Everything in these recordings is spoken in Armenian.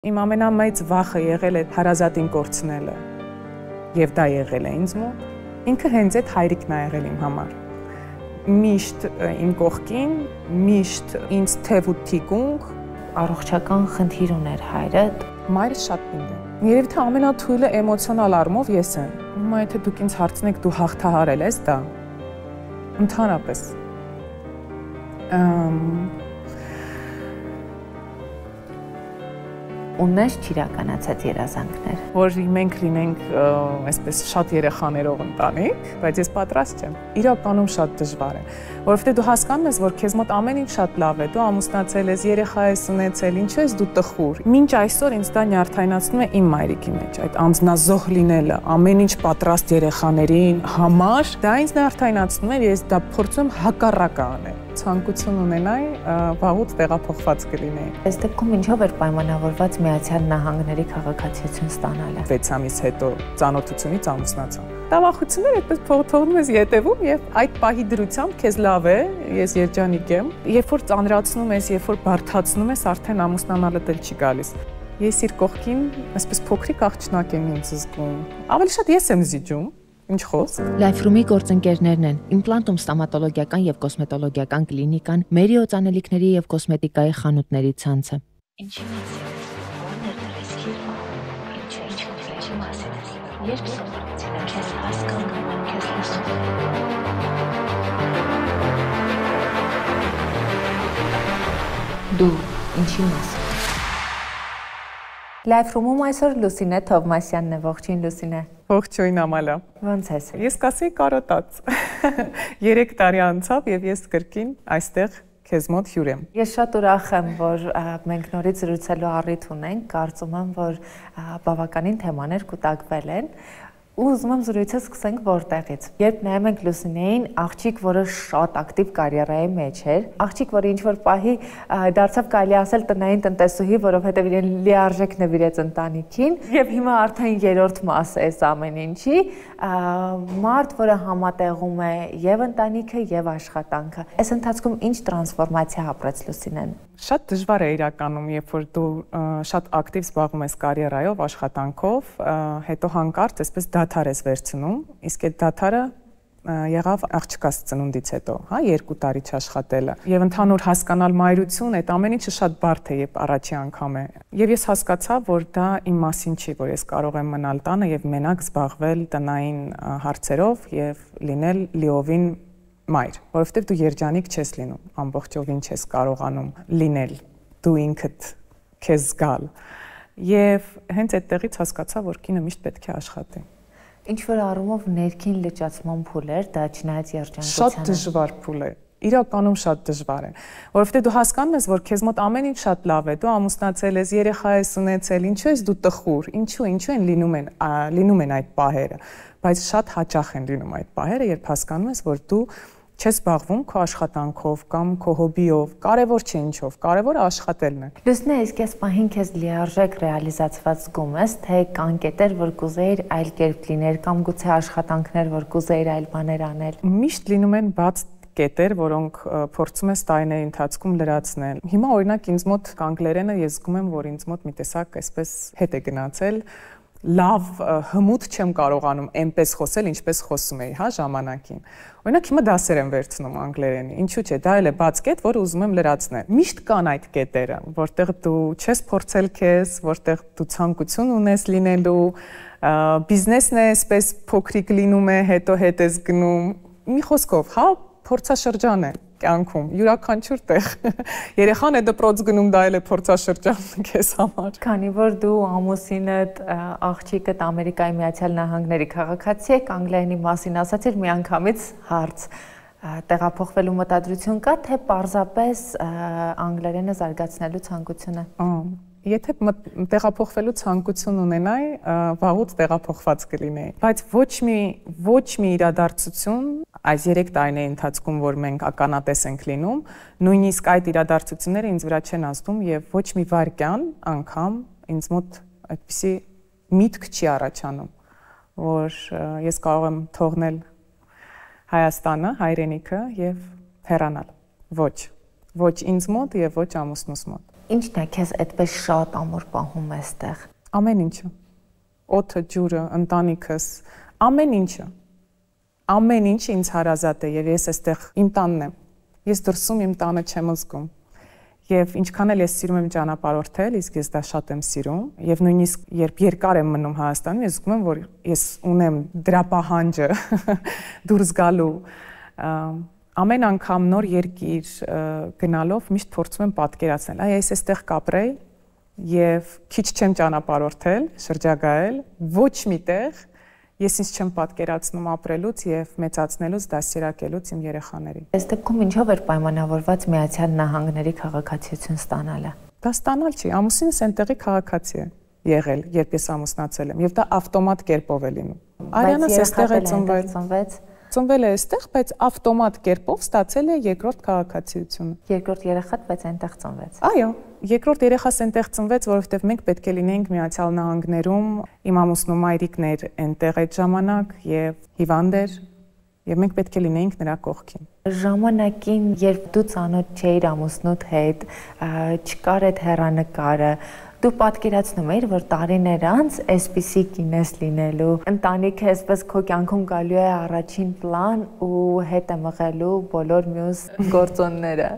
Իմ ամենամեծ վախը եղել է հարազատին կորցնելը, եւ դա եղել է ինձ մոտ, ինքը հենց այդ հայրիկն է եղել իմ համար։ Միշտ իմ կողքին, միշտ ինձ թև ու թիկունք, առողջական խնդիր ուներ հայրդ։ Մայրս շատ պինդ է։ Երևի թե ամենաթույլը էմոցիոնալ առումով ես եմ։ Հիմա եթե դուք ինձ հարցնեք դու հաղթահարել ես դա, ընդհանրապես Ունես չիրականացած երազանքներ։ Որ մենք լինենք այսպես շատ երեխաներով ընտանիք, բայց ես պատրաստ չեմ։ Իրականում շատ դժվար է, որովհետեւ դու հասկանում ես, որ քեզ մոտ ամեն ինչ շատ լավ է, դու ամուսնացել ես, երեխա ես ունեցել, ինչու ես դու տխուր։ Մինչ այսօր ինձ դա նյարդայնացնում է իմ մայրիկի մեջ, այդ անձնազոհ լինելը, ամեն ինչ պատրաստ երեխաներին համար, դա ինձ նյարդայնացնում է, ես դա փորձում հակառակը անել։ Ցանկություն ունենայի, վաղուց տեղափոխված կլինեի։ Այս դեպքում ինչով էր պայմանավորված Միացյալ Նահանգների քաղաքացիություն ստանալը։ 6 ամիս հետո ծանոթությունից ամուսնացա։ Տավախությունները այդպես թողնում ես ետևում եւ այդ պահի դրությամբ քեզ լավ է, ես երջանիկ եմ։ Երբ որ ծանրացնում ես, երբ որ բարդացնում ես, արդեն ամուսնանալը դեռ չի գալիս։ Ես իր կողքին այսպես փոքրիկ աղջնակ եմ ինձ զգում։ Ավելի շատ ես եմ զիջում։ Ինչ խոսք։ Լայֆրումի գործընկերներն են Իմպլանտում ստոմատոլոգիական եւ կոսմետոլոգիական կլինիկան, Մերի օծանելիքների եւ կոսմետիկայի խանութների ցանցը։ Ինչի՞ ո՞րն է ռիսկի։ Ինչ չկա մասից։ Երբ սովորեցին քեզ հասկանում, քեզ լսում։ Դու ինչի՞ մաս։ Լայֆրումում այսօր Լուսինե Թովմասյանն է, ողջույն Լուսինե։ Ողջույն Ամալա։ Ոնց ես։ Ես կասեի կարոտած։ 3 տարի անցավ եւ ես կրկին այստեղ քեզ մոտ հյուր եմ։ Ես շատ ուրախ եմ, որ մենք նորից զրուցելու առիթ ունենք, կարծում եմ, որ բավականին թեմաներ կուտակվել են։ Ու ուզում եմ զրույցը սկսենք որտեղից։ Երբ նայում ենք Լուսինեին, աղջիկ, որը շատ ակտիվ կարիերայի մեջ էր, աղջիկ, որը ինչ-որ պահի դարձավ կարելի ասել տնային տնտեսուհի, որովհետև իրեն լիարժեք նվիրեց ընտանիքին, եւ հիմա արդեն երրորդ մաս է այս ամեն ինչի, մարդ, որը համատեղում է եւ ընտանիքը եւ աշխատանքը։ Այս ընթացքում ինչ տրանսֆորմացիա ապրեց Լուսինեն։ Շատ դժվար է իրականում, երբ որ դու շատ ակտիվ զբաղվում ես կարիերայով, աշխատանքով, հետո հանկարծ այսպես դադար ես վերցնում, իսկ այդ դադարը եղավ աղջկաս ծնունդից հետո, հա, 2 տարի չաշխատելը։ Եվ ընդհանուր հասկանալ մայրություն, այդ ամեն ինչը շատ բարդ է, երբ առաջի անգամ է։ Եվ ես հասկացա, որ դա իմ մասին չի, որ ես կարող եմ մնալ տանը եւ մենակ զբաղվել տնային հարցերով եւ լինել լիովին մայր, որովհետև դու երջանիկ չես լինում, ամբողջովին չես կարողանում լինել, դու ինքդ քեզ զգալ։ Եվ հենց այդտեղից հասկացա, որ կինը միշտ պետք է աշխատի։ Ինչ որ առումով ներքին լճացման փուլ էր, դա չնայած երջանկությանը։ Շատ դժվար փուլ է։ Իրականում շատ դժվար է, որովհետև դու հասկանում ես, որ քեզ մոտ ամեն ինչ շատ լավ է, դու ամուսնացել ես, երեխա ես ունեցել, ինչու ես դու տխուր, ինչու են լինում են այդ պահերը, բայց շատ հաճախ են լինում այդ պահերը, երբ հասկանում ես, որ դու չես զբաղվում քո աշխատանքով կամ քո հոբիով, կարևոր չէ ինչով, կարևորը աշխատելն է։ Լուսինե, իսկ այս պահին քեզ լիարժեք ռեալիզացված զգում ես, թե կան կետեր, որ կուզեիր այլ կերպ լինել կամ գուցե աշխատանքներ, որ կուզեիր այլ բաներ անել։ Միշտ լինում են բաց կետեր, որոնք փորձում ես տարիների ընթացքում լրացնել։ Հիմա օրինակ ինձ մոտ անգլերենը ես զգում եմ, որ ինձ մոտ մի տեսակ այսպես հետ է գնացել, լավ հմուտ չեմ կարողանում այնպես խոսել, ինչպես խոսում էի, հա, ժամանակին։ Օրինակ հիմա դասեր եմ վերցնում անգլերենի, ինչու՞ չէ, դա էլ է բաց կետ, որը ուզում եմ լրացնել։ Միշտ կան այդ կետերը, որտեղ դու չես փորձել քեզ, որտեղ դու ցանկություն ունես լինելու, բիզնեսն է այսպես փոքրիկ լինում է, հետո հետ ես գնում։ Մի խոսքով, հա, փորձաշրջան է կյանքում, յուրաքանչյուր տեղ։ Երեխան է դպրոց գնում, դա էլ է փորձաշրջան քեզ համար։ Քանի որ դու ամուսինդ, աղջիկդ Ամերիկայի Միացյալ Նահանգների քաղաքացի եք, անգլերենի մասին ասացիր, միանգամից հարց։ Տեղափոխվելու մտադրություն կա, թե պարզապես անգլերենը զարգացնելու ցանկություն է։ Եթե տեղափոխվելու ցանկություն ունենայի, վաղուց տեղափոխված կլինեի, բայց ոչ մի իրադարձություն այս 3 տարիների ընթացքում, որ մենք ականատես ենք լինում, նույնիսկ այդ իրադարձությունները ինձ վրա չեն ազդում եւ ոչ մի վայրկյան անգամ ինձ մոտ այդպիսի միտք չի առաջանում, որ ես կարող եմ թողնել Հայաստանը, հայրենիքը եւ հեռանալ։ Ոչ ինձ մոտ եւ ոչ ամուսնուս մոտ։ Ինչն է քեզ այդպես շատ ամուր պահում այստեղ։ Ամեն ինչը։ Օդը, ջուրը, ընտանիքս, ամեն ինչը։ Ամեն ինչ ինձ հարազատ է եւ ես այստեղ իմ տանն եմ։ Ես դրսում իմ տանը չեմ զգում։ Եվ ինչքան էլ ես սիրում եմ ճանապարհորդել, իսկ ես դա շատ եմ սիրում, եւ նույնիսկ երբ երկար եմ մնում Հայաստանում, ես զգում եմ, որ ես ունեմ դրա պահանջը դուրս գալու։ Ամեն անգամ նոր երկիր գնալով միշտ փորձում եմ պատկերացնել, այ ես այստեղ կապրեի եւ քիչ չեմ ճանապարհորդել, շրջագայել, ոչ միտեղ ես ինձ չեմ պատկերացնում ապրելուց եւ մեծացնելուց, դասերակելուց իմ երեխաներին։ Այս դեպքում ինչով էր պայմանավորված Միացյալ Նահանգների քաղաքացիություն ստանալը։ Դա ստանալ չի, ամուսինս այնտեղի քաղաքացի է եղել, երբ ես ամուսնացել եմ, եւ դա ավտոմատ կերպով է լինում։ Արյանս այստեղ է ծնվել։ Ծնվել է այստեղ, բայց ավտոմատ կերպով ստացել է երկրորդ քաղաքացիությունը։ Երկրորդ երեխան բայց այնտեղ ծնվեց։ Այո, երկրորդ երեխաս այնտեղ ծնվեց, որովհետև մենք պետք է լինեինք Միացյալ Նահանգներում, իմ ամուսնու մայրիկն էր այնտեղ այդ ժամանակ եւ հիվանդ էր, եւ մենք պետք է լինեինք նրա կողքին։ Ժամանակին, երբ դու ծանոթ չէիր ամուսնուդ հետ, չկար այդ հեռանկարը, դու պատկերացնում էիր, որ տարիներ անց այսպիսի կինես լինելու, ընտանիքը այսպես քո կյանքում գալու է առաջին պլան ու հետ է մղելու բոլոր մյուս գործոնները։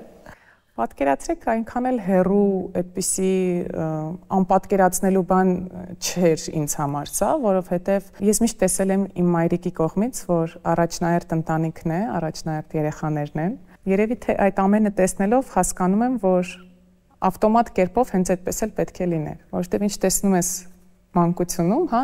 Պատկերացրեք, այնքան էլ հեռու այդպիսի անպատկերացնելու բան չէր ինձ համար սա, որովհետև ես միշտ տեսել եմ իմ մայրիկի կողմից, որ առաջնահերթ ընտանիքն է, առաջնահերթ երեխաներն են։ Երևի թե այդ ամենը տեսնելով հասկանում եմ, որ ավտոմատ կերպով հենց այդպես էլ պետք է լիներ, որովհետև ինչ տեսնում ես մանկությունում, հա,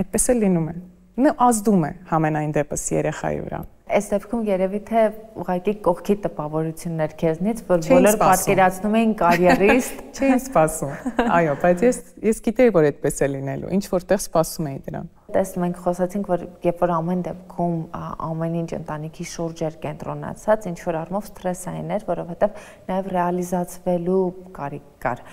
այդպես էլ լինում է։ Նա ազդում է համենայն դեպս երեխայի վրա։ Այս դեպքում երևի թե ուղղակի կողքի տպավորություններ քեզնից, որ բոլոր պատկերացնում էին կարիերիստ, չէին սպասում։ Այո, բայց ես գիտեի, որ այդպես է լինելու, ինչ որտեղ սպասում էի դրան։ Տեսնում ենք, խոսացինք, որ երբ որ ամեն դեպքում ամեն ինչ ընտանիքի շուրջ էր կենտրոնացած, ինչ որ առումով սթրեսային էր, որովհետև նաև ռեալիզացվելու կարիք կար։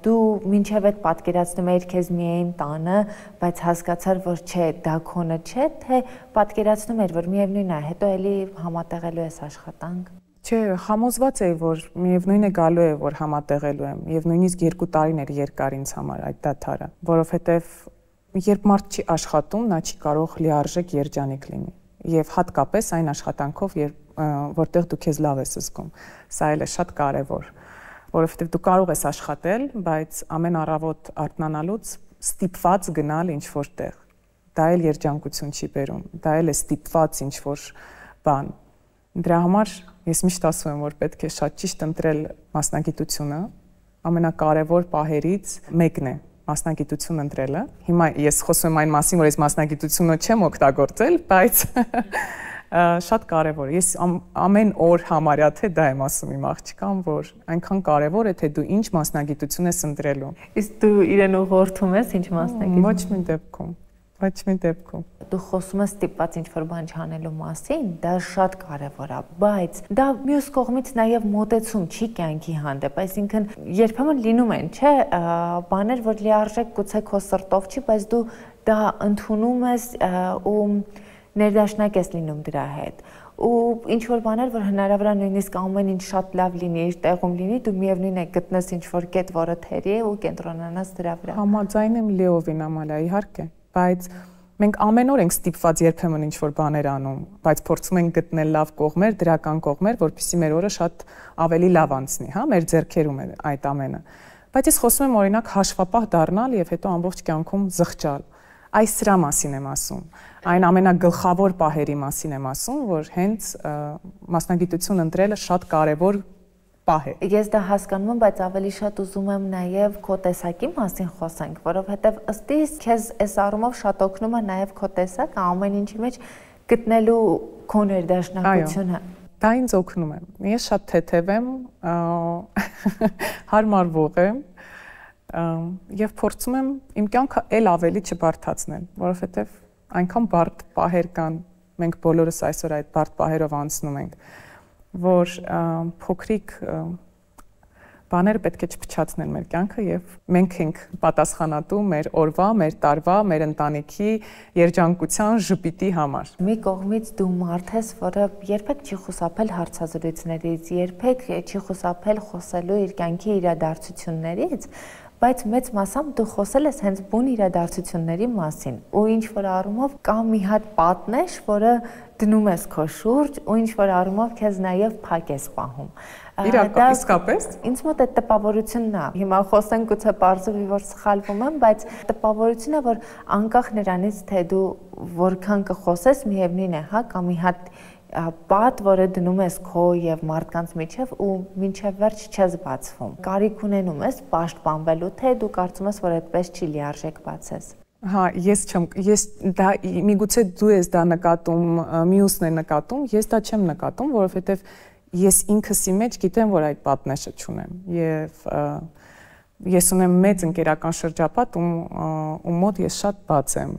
Դու մինչև այդ պատկերացնում էիր քեզ միայն տանը, բայց հասկացար, որ չէ, դա քոնը չէ, թե պատկերացնում էր, որ միևնույն է, հետո էլի համատեղելու ես աշխատանք։ Չէ, համոզված էի, որ միևնույն է գալու է, որ համատեղելու եմ, եւ նույնիսկ 2 տարին էր երկար ինձ համար այդ դադարը, որովհետև երբ մարդ չի աշխատում, նա չի կարող լիարժեք երջանիկ լինի։ Եվ հատկապես այն աշխատանքով, որտեղ դու քեզ լավ ես զգում։ Սա էլ է շատ կարևոր, որովհետև դու կարող ես աշխատել, բայց ամեն առավոտ արթնանալուց ստիպված գնալ ինչ-որ տեղ։ Դա էլ երջանկություն չի բերում, դա էլ է ստիպված ինչ-որ բան։ Դրա համար ես միշտ ասում եմ, որ պետք է շատ ճիշտ ընտրել մասնագիտությունը, ամենակարևոր պահերից մեկն է մասնագիտություն ընտրելը։ Հիմա ես խոսում եմ այն մասին, որ ես մասնագիտությունը չեմ օգտագործել, բայց շատ կարևոր է։ Ես ամեն օր համարյա թե դա եմ ասում իմ աղջկան, որ այնքան կարևոր է, թե դու ինչ մասնագիտություն ես ընտրելու։ Իսկ դու իրեն ուղղորդում ես ինչ մասնագիտություն։ Ոչ մի դեպքում։ Ոչ մի դեպքում։ Դու խոսում ես ստիպված ինչ-որ բան չանելու մասին, դա շատ կարևոր է, բայց դա մյուս կողմից նաև մոտեցում չի կյանքի հանդեպ, այսինքն երբեմն լինում են, չէ, բաներ, որ լիարժեք գուցե քո սրտով չի, բայց դու դա ընդունում ես ու ներդաշնակ ես լինում դրա հետ։ Ու ինչ որ բաներ, որ հնարավոր է նույնիսկ ամեն ինչ շատ լավ լինի, իր տեղում լինի, դու միևնույն է գտնես ինչ որ կետ, որը թերի է ու կենտրոնանաս դրա վրա։ Համաձայն եմ Լեովին, Ամալիա, իհարկե, բայց մենք ամեն օր ենք ստիպված երբեմն ինչ-որ բաներ անում, բայց փորձում ենք գտնել լավ կողմեր, դրական կողմեր, որպեսզի մեր օրը շատ ավելի լավ անցնի, հա, մեր ձեռքերում է այդ ամենը։ Բայց ես խոսում եմ օրինակ հաշվապահ դառնալ եւ հետո ամբողջ կյանքում զղջալ։ Այս սրա մասին եմ ասում։ Այն ամենագլխավոր պահերի մասին եմ ասում, որ հենց մասնագիտություն ընտրելը շատ կարևոր պահ է։ Ես դա հասկանում եմ, բայց ավելի շատ ուզում եմ նաև քո տեսակի մասին խոսենք, որովհետև ըստ իս քեզ այս առումով շատ օգնում է նաև քո տեսակը ամեն ինչի մեջ գտնելու քո ներդաշնակությունը։ Դա ինձ օգնում է։ Ես շատ թեթև եմ, հարմարվող եմ եւ փորձում եմ իմ կյանքը ել ավելի չբարթացնել, որովհետև այնքան բարդ պահեր կան, մենք բոլորս այսօր այդ բարդ պահերով անցնում ենք, որ փոքրիկ բաները պետք է չփչացնեն մեր կյանքը եւ մենք ենք պատասխանատու մեր օրվա, մեր տարվա, մեր ընտանիքի երջանկության ժպիտի համար։ Մի կողմից դու մարդ ես, որը երբեք չի խուսափել հարցազրույցներից, երբեք չի խուսափել խոսելու իր կյանքի իրադարձություններից, բայց մեծ մասամբ դու խոսել ես հենց բուն իրադարձությունների մասին ու ինչ որ առումով կա մի հատ պատնեշ, որը դնում ես քո շուրջ ու ինչ որ առումով քեզ նաև փակ ես պահում։ Իսկապես ինձ մոտ է տպավորությունն է։ Հիմա խոսենք գուցե բարձրի որ սխալվում եմ, բայց տպավորությունը, որ անկախ նրանից թե դու որքան կխոսես, միևնույն է, հա, կա մի հատ պատ, որը դնում ես քո եւ մարդկանց միջև ու մինչև վերջ չես բացվում։ Կարիք ունենում ես պաշտպանվելու, թե դու կարծում ես, որ այդպես չի լիարժեք բացես։ Հա, ես դա միգուցե դու ես դա նկատում, մյուսն է նկատում, ես դա չեմ նկատում, որովհետեւ ես ինքս ի մեջ գիտեմ, որ այդ պատնեշը չունեմ եւ ես ունեմ մեծ ընկերական շրջապատ, ում մոտ ես շատ բաց եմ։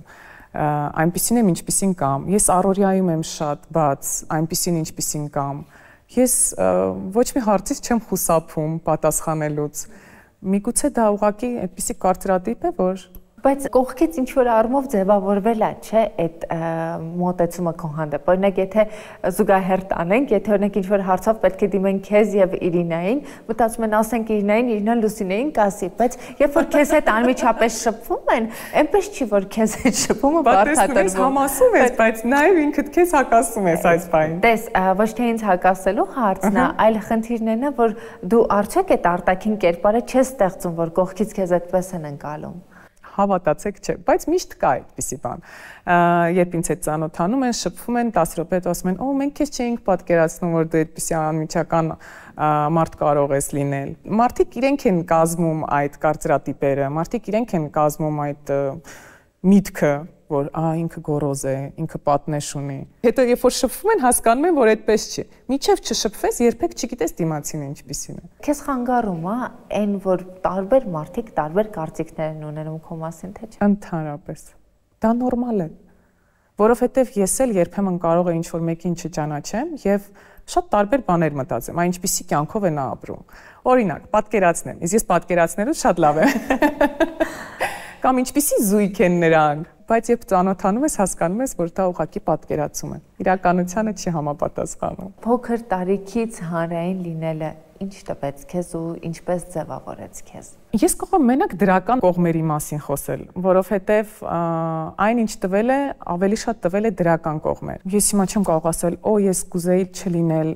Այնպիսին եմ, ինչպիսին կամ։ Ես առօրյայում եմ շատ բաց, այնպիսին ինչպիսին կամ։ Ես ոչ մի հարցից չեմ խուսափում պատասխանելուց։ Միգուցե դա ուղղակի այդպիսի կարծրատիպ է, որ բայց կողքից ինչ որ առումով ձևավորվել է, չէ, այդ մոտեցումը քո հանդեպ։ Օրինակ, եթե զուգահեռ տանենք, եթե օրինակ ինչ որ հարցով պետք է դիմեն քեզ եւ Իրինային, մտածում են, ասենք Իրինան Լուսինեին կասի, բայց երբ որ քեզ հետ անմիջապես շփվում են, այնպես չի որ քեզ հետ շփումը բարդատրվում։ Բայց համասում ես, բայց նաեւ ինքդ քեզ հակասում ես այս բանին։ Տես, ոչ թե ինձ հակասելու հարցն է, այլ խնդիրն է, որ դու արդյոք այդ արտաքին կերպարը չես ստեղծում, որ կողքից քեզ այդպես են ընկալում։ Հավատացեք, չէ, բայց միշտ կա այդպիսի բան։ Երբ ինձ հետ ծանոթանում են, շփվում են 10 րոպե, ասում են, «Օ, մենք քեզ չէինք պատկերացնում, որ դու այդպիսի անմիջական մարդ կարող ես լինել»։ Մարդիկ իրենք են կազմում այդ կարծրատիպերը, մարդիկ իրենք են կազմում այդ միտքը, որ ինքը գոռոզ է, ինքը պատնեշ ունի։ Հետո երբ որ շփվում են, հասկանում են, որ այդպես չի։ Մինչև չշփվես, երբեք չգիտես դիմացին ինչպիսին է։ Քեզ խանգարում է այն, որ տարբեր մարդիկ տարբեր կարծիքներ են ունենում քո մասին, թե չէ։ Ընդհանրապես։ Դա նորմալ է։ Որովհետև ես էլ երբեմն կարող եմ ինչ-որ մեկին չճանաչեմ եւ շատ տարբեր բաներ մտածեմ, այն ինչպիսի կյանքով է նա ապրում։ Օրինակ, պատկերացնեմ, ես պատկերացնելուց շատ լավ եմ։ Կամ ինչպիսի զույգ են նրանք, բայց երբ ծանոթանում ես, հասկանում ես, որ դա ուղղակի պատկերացում է։ Իրականությանը չի համապատասխանում։ Փոքր տարիքից հանրային լինելը ինչ տվեց քեզ ու ինչպես ձևավորեց քեզ։ Ես կարող եմ մենակ դրական կողմերի մասին խոսել, որովհետև այն ինչ տվել է, ավելի շատ տվել է դրական կողմեր։ Ես հիմա չեմ կարող ասել, «Օ, ես կուզեի չլինել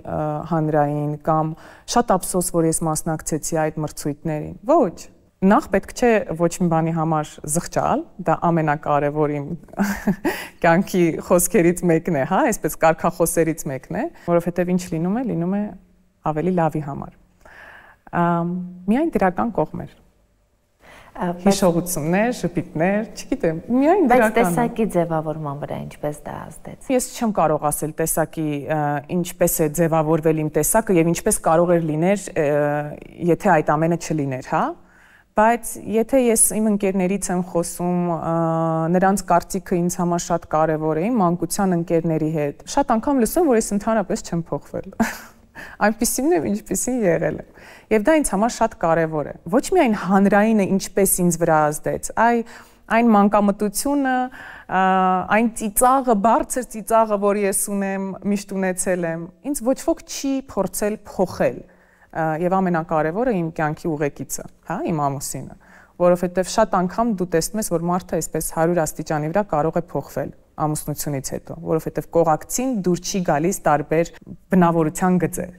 հանրային» կամ «Շատ ափսոս, որ ես մասնակցեցի այդ մրցույթներին»։ Ոչ։ Նախ պետք չէ ոչ մի բանի համար զղջալ, դա ամենակարևոր իմ կյանքի խոսքերից մեկն է, հա, այսպես կարգախոսերից մեկն է, որովհետև ինչ լինում է ավելի լավի համար։ Միայն դրական կողմեր։ Հիշողություններ, ժպիտներ, չգիտեմ, միայն դրական։ Բայց տեսակի ձևավորման վրա ինչպես դա ազդեց։ Ես չեմ կարող ասել տեսակի ինչպես է ձևավորվել իմ տեսակը եւ ինչպես կարող էր լիներ, եթե այդ ամենը չլիներ, հա։ Բայց եթե ես իմ ընկերներից եմ խոսում, նրանց կարծիքը ինձ համար շատ կարևոր է, իմ մանկության ընկերների հետ, շատ անգամ լսում, որ ես ընդհանրապես չեմ փոխվել։ Այնպիսին եմ, ինչպիսին եղել եմ։ Եվ դա ինձ համար շատ կարևոր է։ Ոչ միայն հանրայինը ինչպես ինձ վրա ազդեց, այն մանկամտությունը, այն ծիծաղը, բարձր ծիծաղը, որ ես ունեմ, միշտ ունեցել եմ, ինձ ոչ ոք չի փորձել փոխել։ Եվ ամենակարևորը իմ կյանքի ուղեկիցը, հա, իմ ամուսինը, որովհետև շատ անգամ դու տեսնում ես, որ մարդը այսպես 100 աստիճանի վրա կարող է փոխվել ամուսնությունից հետո, որովհետև կողակցին դուր չի գալիս տարբեր բնավորության գծեր։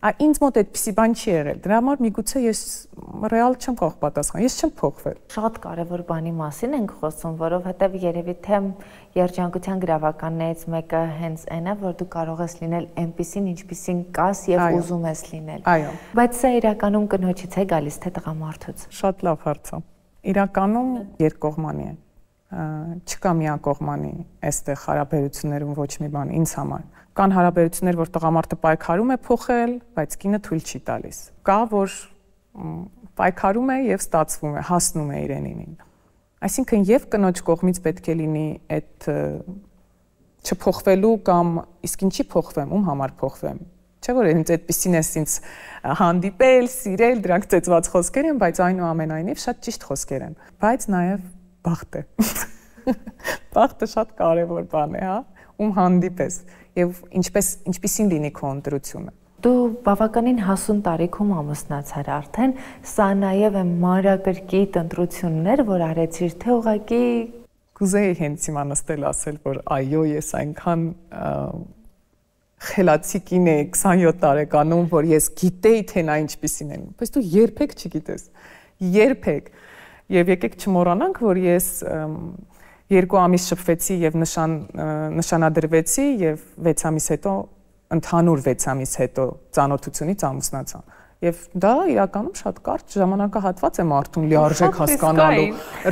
Ինձ մոտ այդպիսի բան չի եղել։ Դրա համար միգուցե ես ռեալ չեմ կարող պատասխանել, ես չեմ փոխվել։ Շատ կարևոր բանի մասին ենք խոսում, որովհետև երևի թե երջանկության գրավականներից մեկը հենց այն է, որ դու կարող ես լինել այնպիսին, ինչպիսին կաս եւ ուզում ես լինել։ Այո։ Բայց սա իրականում կնոջից է գալիս, թե տղամարդուց։ Շատ լավ հարց է։ Իրականում երկկողմանի է։ Չկա միակողմանի այստեղ հարաբերություններում ոչ մի բան ինձ համար։ Կան հարաբերություններ, որ տղամարդը պայքարում է փոխել, բայց կինը թույլ չի տալիս։ Կա, որ պայքարում է եւ ստացվում է, հասնում է իրենին։ Այսինքն եւ կնոջ կողմից պետք է լինի այդ չփոխվելու կամ իսկ ինչի փոխվեմ, ում համար փոխվեմ, Չէ՞ որ ինձ այդպեսին էս ինձ հանդիպել, սիրել, դրանք ծեծված խոսքեր են, բայց այնուամենայնիվ շատ ճիշտ խոսքեր են։ Բայց նաև բախտ է։ Բախտը շատ կարևոր բան է, հա, ում հանդիպես եւ ինչպեսին լինի քո ընտրությունը։ Դու բավականին հասուն տարիքում ամուսնացար արդեն, սա նաև է մանրակրկիտ ընտրություններ, որ արեցիր, թե ուղղակի կուզեի հենց հիմա նստել ասել, որ այո, ես այնքան խելացի կին էի 27 տարեկանում, որ ես գիտեի, թե նա ինչպիսին է, բայց դու երբեք չգիտես։ Երբեք։ Եվ եկեք չմոռանանք, որ ես 2 ամիս շփվեցի եւ նշանադրվեցի եւ 6 ամիս հետո ընդհանուր 6 ամիս հետո ծանոթությունից ամուսնացա։ Եվ դա իրականում շատ կարճ ժամանակահատված է մարդուն լիարժեք հասկանալու,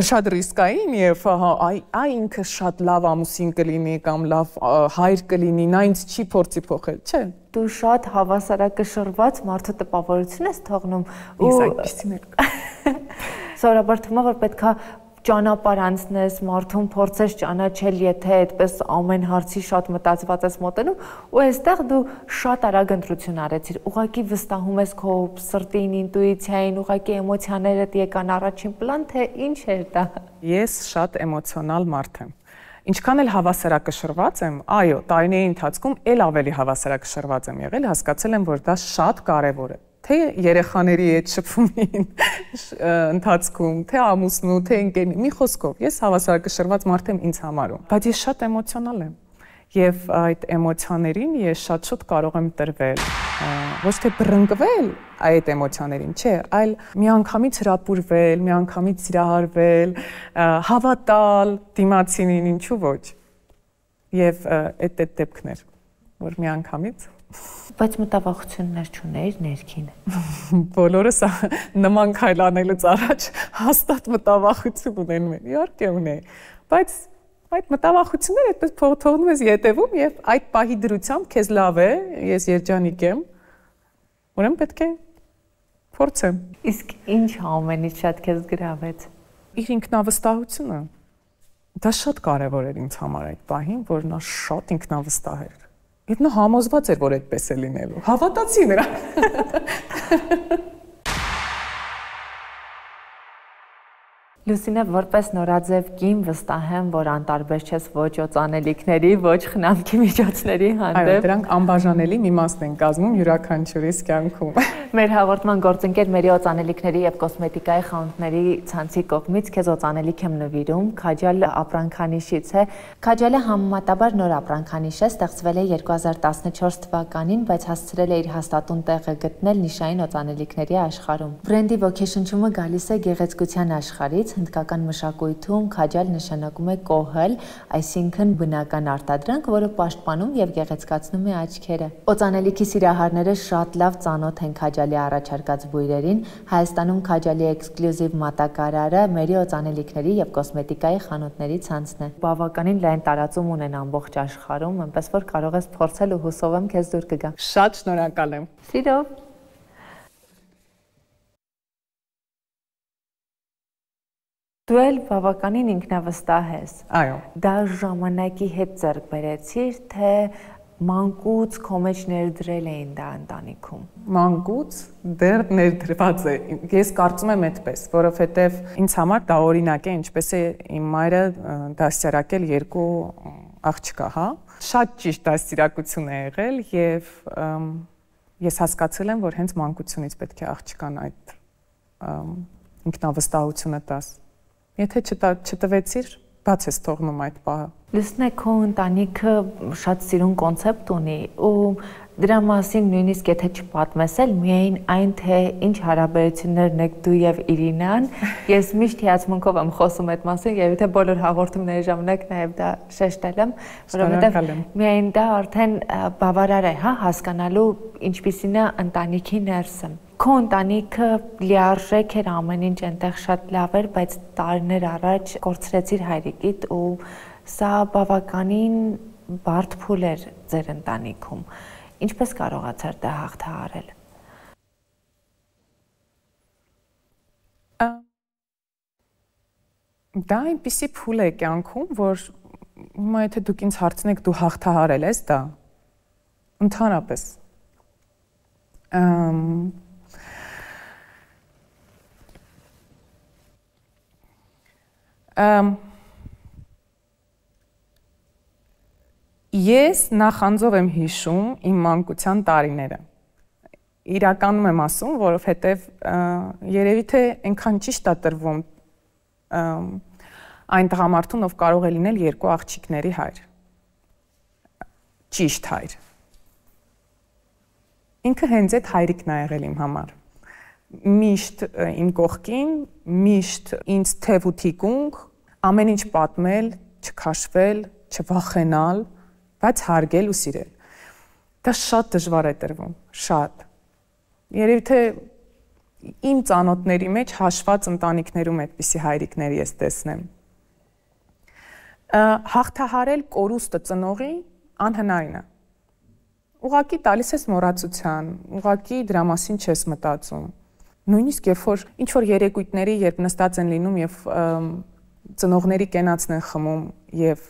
շատ ռիսկային եւ այ ինքը շատ լավ ամուսին կլինի կամ լավ հայր կլինի, նա ինձ չի փորձի փոխել, չէ։ Դու շատ հավասարակշռված մարդու տպավորություն ես թողնում ու այսպեսին է։ Սովորաբար թվում է, որ պետքա ճանապարհ անցնես, մարդուն փորձես ճանաչել, եթե այդպես ամեն հարցի շատ մտածված ես մոտենում, ու այստեղ դու շատ արագ ընտրություն արեցիր, ուղղակի վստահում ես քո սրտին, ինտուիցիային, ուղղակի էմոցիաներդ եկան առաջին պլան, թե ինչ էր դա։ Ես շատ էմոցիոնալ մարդ եմ։ Ինչքան էլ հավասարակշռված եմ, այո, տարիների ընթացքում էլ ավելի հավասարակշռված եմ եղել, հասկացել եմ, որ դա շատ կարևոր է։ Թե երեխաների հետ շփումին ընթացքում, թե ամուսնու, թե ընկերների, մի խոսքով, ես հավասարակշռված մարդ եմ ինձ համարում, բայց ես շատ էմոցիոնալ եմ։ Եվ այդ էմոցիաներին ես շատ շուտ կարող եմ տրվել, ոչ թե բռնկվել այդ էմոցիաներին, չէ, այլ միանգամից հրապուրվել, միանգամից սիրահարվել, հավատալ դիմացինին, ինչու ոչ։ Եվ այդ դեպքներ, որ միանգամից Բայց մտավախություններ չուներ ներքին։ Բոլորս նման քայլ անելուց առաջ հաստատ մտավախություն ունեն, իհարկե ունեն, բայց այդ մտավախությունները այդպես թողնում ես ետևում եւ այդ պահի դրությամբ քեզ լավ է, ես երջանիկ եմ, ուրեմն պետք է փորձեմ։ Իսկ ինչ ամենից շատ քեզ գրավեց։ Իր ինքնավստահությունը։ Դա շատ կարեւոր էր ինձ համար այդ պահին, որ նա շատ ինքնավստահ էր։ Եվ նա համոզված էր, որ այդպես է լինելու։ Հավատացի նրան։ Լուսինե, որպես նորաձև կին վստահ եմ, որ անտարբեր չես ոչ օծանելիքների, ոչ խնամքի միջոցների հանդեպ։ Այո, դրանք անբաժանելի մի մասն են կազմում յուրաքանչյուրիս կյանքում։ Մեր հաղորդման գործընկեր Մերի օծանելիքների եւ կոսմետիկայի խանութների ցանցի կողմից քեզ օծանելիք եմ նվիրում, Քաջալ ապրանքանիշից է։ Քաջալը համեմատաբար նոր ապրանքանիշ է, ստեղծվել է 2014 թվականին, բայց հասցրել է իր հաստատուն տեղը գտնել նիշային օծանելիքների աշխարհում։ Բրենդի ոգեշնչումը գալիս է գեղեցկության աշխարհից, հնդկական մշակույթում քաջալ նշանակում է կոհել, այսինքն բնական արտադրանք, որը պաշտպանում եւ գեղեցկացնում է աչքերը։ Օծանելիքի սիրահարները շատ լավ ծանոթ են քաջալի առաջարկած բույրերին, Հայաստանում քաջալի էքսկլյուզիվ մատակարարը Մերի օծանելիքների եւ կոսմետիկայի խանութների ցանցն է։ Բավականին լայն տարածում ունեն ամբողջ աշխարհում, այնպես որ կարող ես փորձել ու հուսով եմ քեզ դուր կգա։ Շատ շնորհակալ եմ։ Սիրով։ Դու էլ բավականին ինքնավստահ ես։ Այո։ Դա ժամանակի հետ ձեռք բերեցիր, թե մանկուց քո մեջ ներդրել էին դա ընտանիքում։ Մանկուց դեռ ներդրված է։ Ես կարծում եմ այդպես, որովհետև ինձ համար դա օրինակ է, ինչպես է իմ մայրը դաստիարակել 2 աղջկա, հա։ Շատ ճիշտ դաստիարակություն է եղել եւ ես հասկացել եմ, որ հենց մանկությունից պետք է աղջկան այդ ինքնավստահությունը տաս։ Եթե չտվեցիր, բաց ես թողնում այդ պահը։ Լուսնե, քո ընտանիքը շատ սիրուն կոնցեպտ ունի ու դրա մասին նույնիսկ եթե չպատմես էլ միայն այն թե ինչ հարաբերություններն եք դու եւ Իրինան, ես միշտ հիացմունքով եմ խոսում այդ մասին եւ եթե բոլոր հաղորդումների ժամանակ նաեւ դա շեշտել եմ, որովհետեւ միայն դա արդեն բավարար է, հա, հասկանալու ինչպիսին է ընտանիքի ներսը։ Քո ընտանիքը լիարժեք էր, ամեն ինչ այնտեղ շատ լավ էր, բայց տարիներ առաջ կորցրեցիր հայրիկիդ ու սա բավականին բարդ փուլ էր ձեր ընտանիքում։ Ինչպես կարողացար դա հաղթահարել։ Դա այնպիսի փուլ է կյանքում, որ հիմա եթե դուք ինձ հարցնեք դու հաղթահարել ես դա, ընդհանրապես Ես նախանձով եմ հիշում իմ մանկության տարիները։ Իրականում եմ ասում, որովհետև երևի թե այնքան ճիշտ է տրվում այն տղամարդուն, ով կարող է լինել երկու աղջիկների հայր։ Ճիշտ հայր։ Ինքը հենց այդ հայրիկն է եղել իմ համար։ Միշտ իմ կողքին, միշտ ինձ թև ու թիկունք, ամեն ինչ պատմել, չքաշվել, չվախենալ, բայց հարգել ու սիրել։ Դա շատ դժվար է տրվում, շատ։ Երևի թե իմ ծանոթների մեջ հաշված ընտանիքներում այդպիսի հայրիկներ ես տեսնեմ։ Հաղթահարել կորուստը ծնողի անհնարին է։ Ուղղակի տալիս ես մոռացության, ուղղակի դրա մասին չես մտածում։ Նույնիսկ երբ որ ինչ որ երեկույթների, երբ նստած են լինում եւ ծնողների կենացն են խմում եւ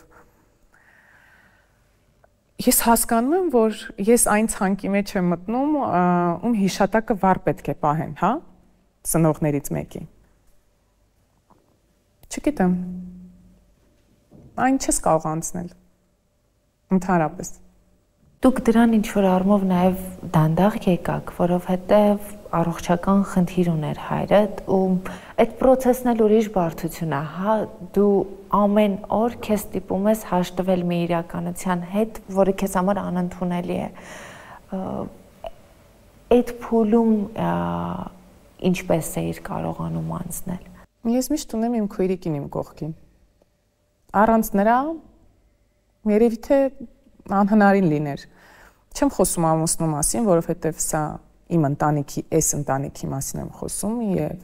ես հասկանում եմ, որ ես այն ցանկի մեջ եմ մտնում, ում հիշատակը վառ պետք է պահեն, հա, ծնողներից մեկի։ Չգիտեմ։ Այն չես կարող անցնել։ Ընդհանրապես։ Դուք դրան ինչ-որ առումով նաև դանդաղ եկաք, որովհետև առողջական խնդիր ուներ հայրդ ու այդ process-ն էլ ուրիշ բարդություն է, հա, դու ամեն օր քեզ ստիպում ես հաշտվել մի իրականության հետ, որը քեզ համար անընդունելի է։ Այդ փուլում ինչպես էիր կարողանում անցնել։ Ես միշտ ունեմ իմ քույրիկին իմ կողքին։ Առանց նրա երևի թե անհնարին լիներ։ Չեմ խոսում ամուսնու մասին, որովհետև սա իմ ընտանիքի, այս ընտանիքի մասին եմ խոսում եւ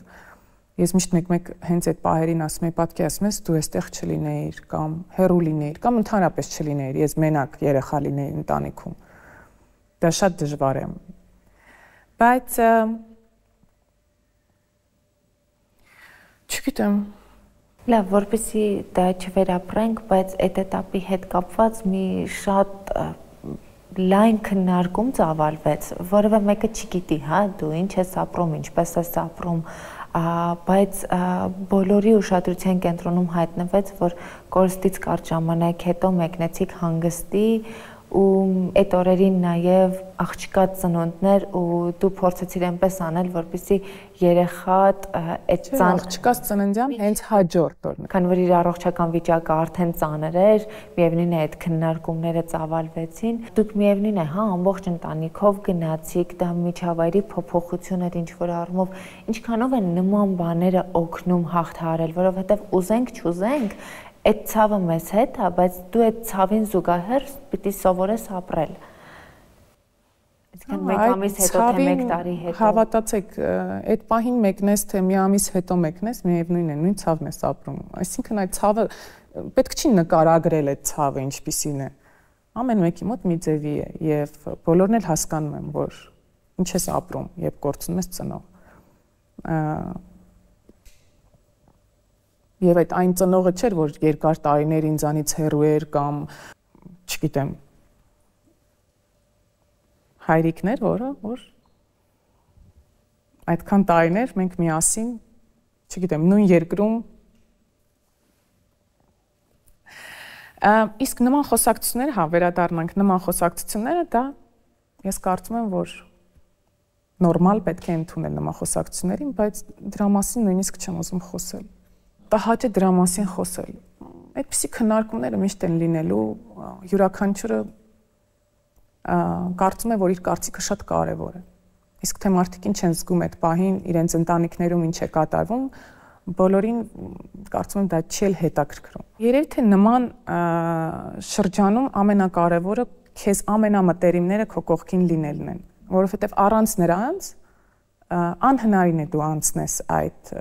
ես միշտ մեկ-մեկ հենց այդ պահերին ասում եմ, պատկերացնում ես դու այստեղ չլինեիր կամ հեռու լինեիր կամ ընդհանրապես չլինեիր, ես մենակ երեխա լինեի ընտանիքում։ Դա շատ դժվար է։ Բայց չգիտեմ։ Լավ, որպեսզի դա չվերապրենք, բայց այդ этаպի հետ կապված մի շատ լայն քննարկում ծավալվեց, որևէ մեկը չգիտի, հա, դու ինչ ես ապրում, ինչպես ես ապրում, բայց բոլորի ուշադրության կենտրոնում հայտնվեց, որ կորստից կարճ ժամանակ հետո մեկնեցիք հանգստի ու այդ օրերին նաև աղջկա ծնունդներ ու դու փորձեցիր այնպես անել, որպեսզի երեխատ այդ աղջկա ծննդյան հենց հաջորդ օրն։ Քանի որ իր առողջական վիճակը արդեն ծանր էր, միևնույն է այդ քննարկումները ծավալվեցին։ Դուք միևնույն է, հա, ամբողջ ընտանիքով գնացիք, դա միջավայրի փոփոխություն էր ինչ-որ առումով։ Ինչքանով են նման բաները օգնում հաղթահարել, որովհետև ուզենք, չուզենք, այդ ցավը մեզ հետ է, բայց դու այդ ցավին զուգահեռ պիտի սովորես ապրել։ Այսինքն մեկ ամիս հետո թե մեկ տարի հետո։ Հավատացեք, այդ պահին մեկնես թե մի ամիս հետո մեկնես, միևնույն է, նույն ցավն ես ապրում։ Այսինքն այդ ցավը պետք չի նկարագրել այդ ցավը ինչպիսին է։ Ամեն մեկի մոտ մի ձևի է եւ բոլորն էլ հասկանում են, որ ինչ ես ապրում, երբ կորցնում ես ծնող։ Եվ այդ այն ծնողը չէր, որ երկար տարիներ ինձանից հեռու էր կամ, չգիտեմ, հայրիկներ, որ այդքան տարիներ մենք միասին, չգիտեմ, նույն երկրում իսկ նման խոսակցությունները, հա, վերադառնանք նման խոսակցությունները, դա ես կարծում եմ, որ նորմալ պետք է ընդունել նման խոսակցություններին, բայց դրա մասին նույնիսկ չեմ ուզում խոսել։ Տհաճ է դրա մասին խոսել։ Այդպիսի քննարկումները միշտ են լինելու, յուրաքանչյուրը կարծում է, որ իր կարծիքը շատ կարևոր է։ Իսկ թե մարդիկ ինչ են զգում այդ պահին, իրենց ընտանիքներում ինչ է կատարվում, բոլորին կարծում եմ դա չի էլ հետաքրքրում։ Երևի թե նման շրջանում ամենակարևորը քեզ ամենամտերիմները քո կողքին լինելն են, որովհետև առանց նրանց անհնարին է դու անցնես այդ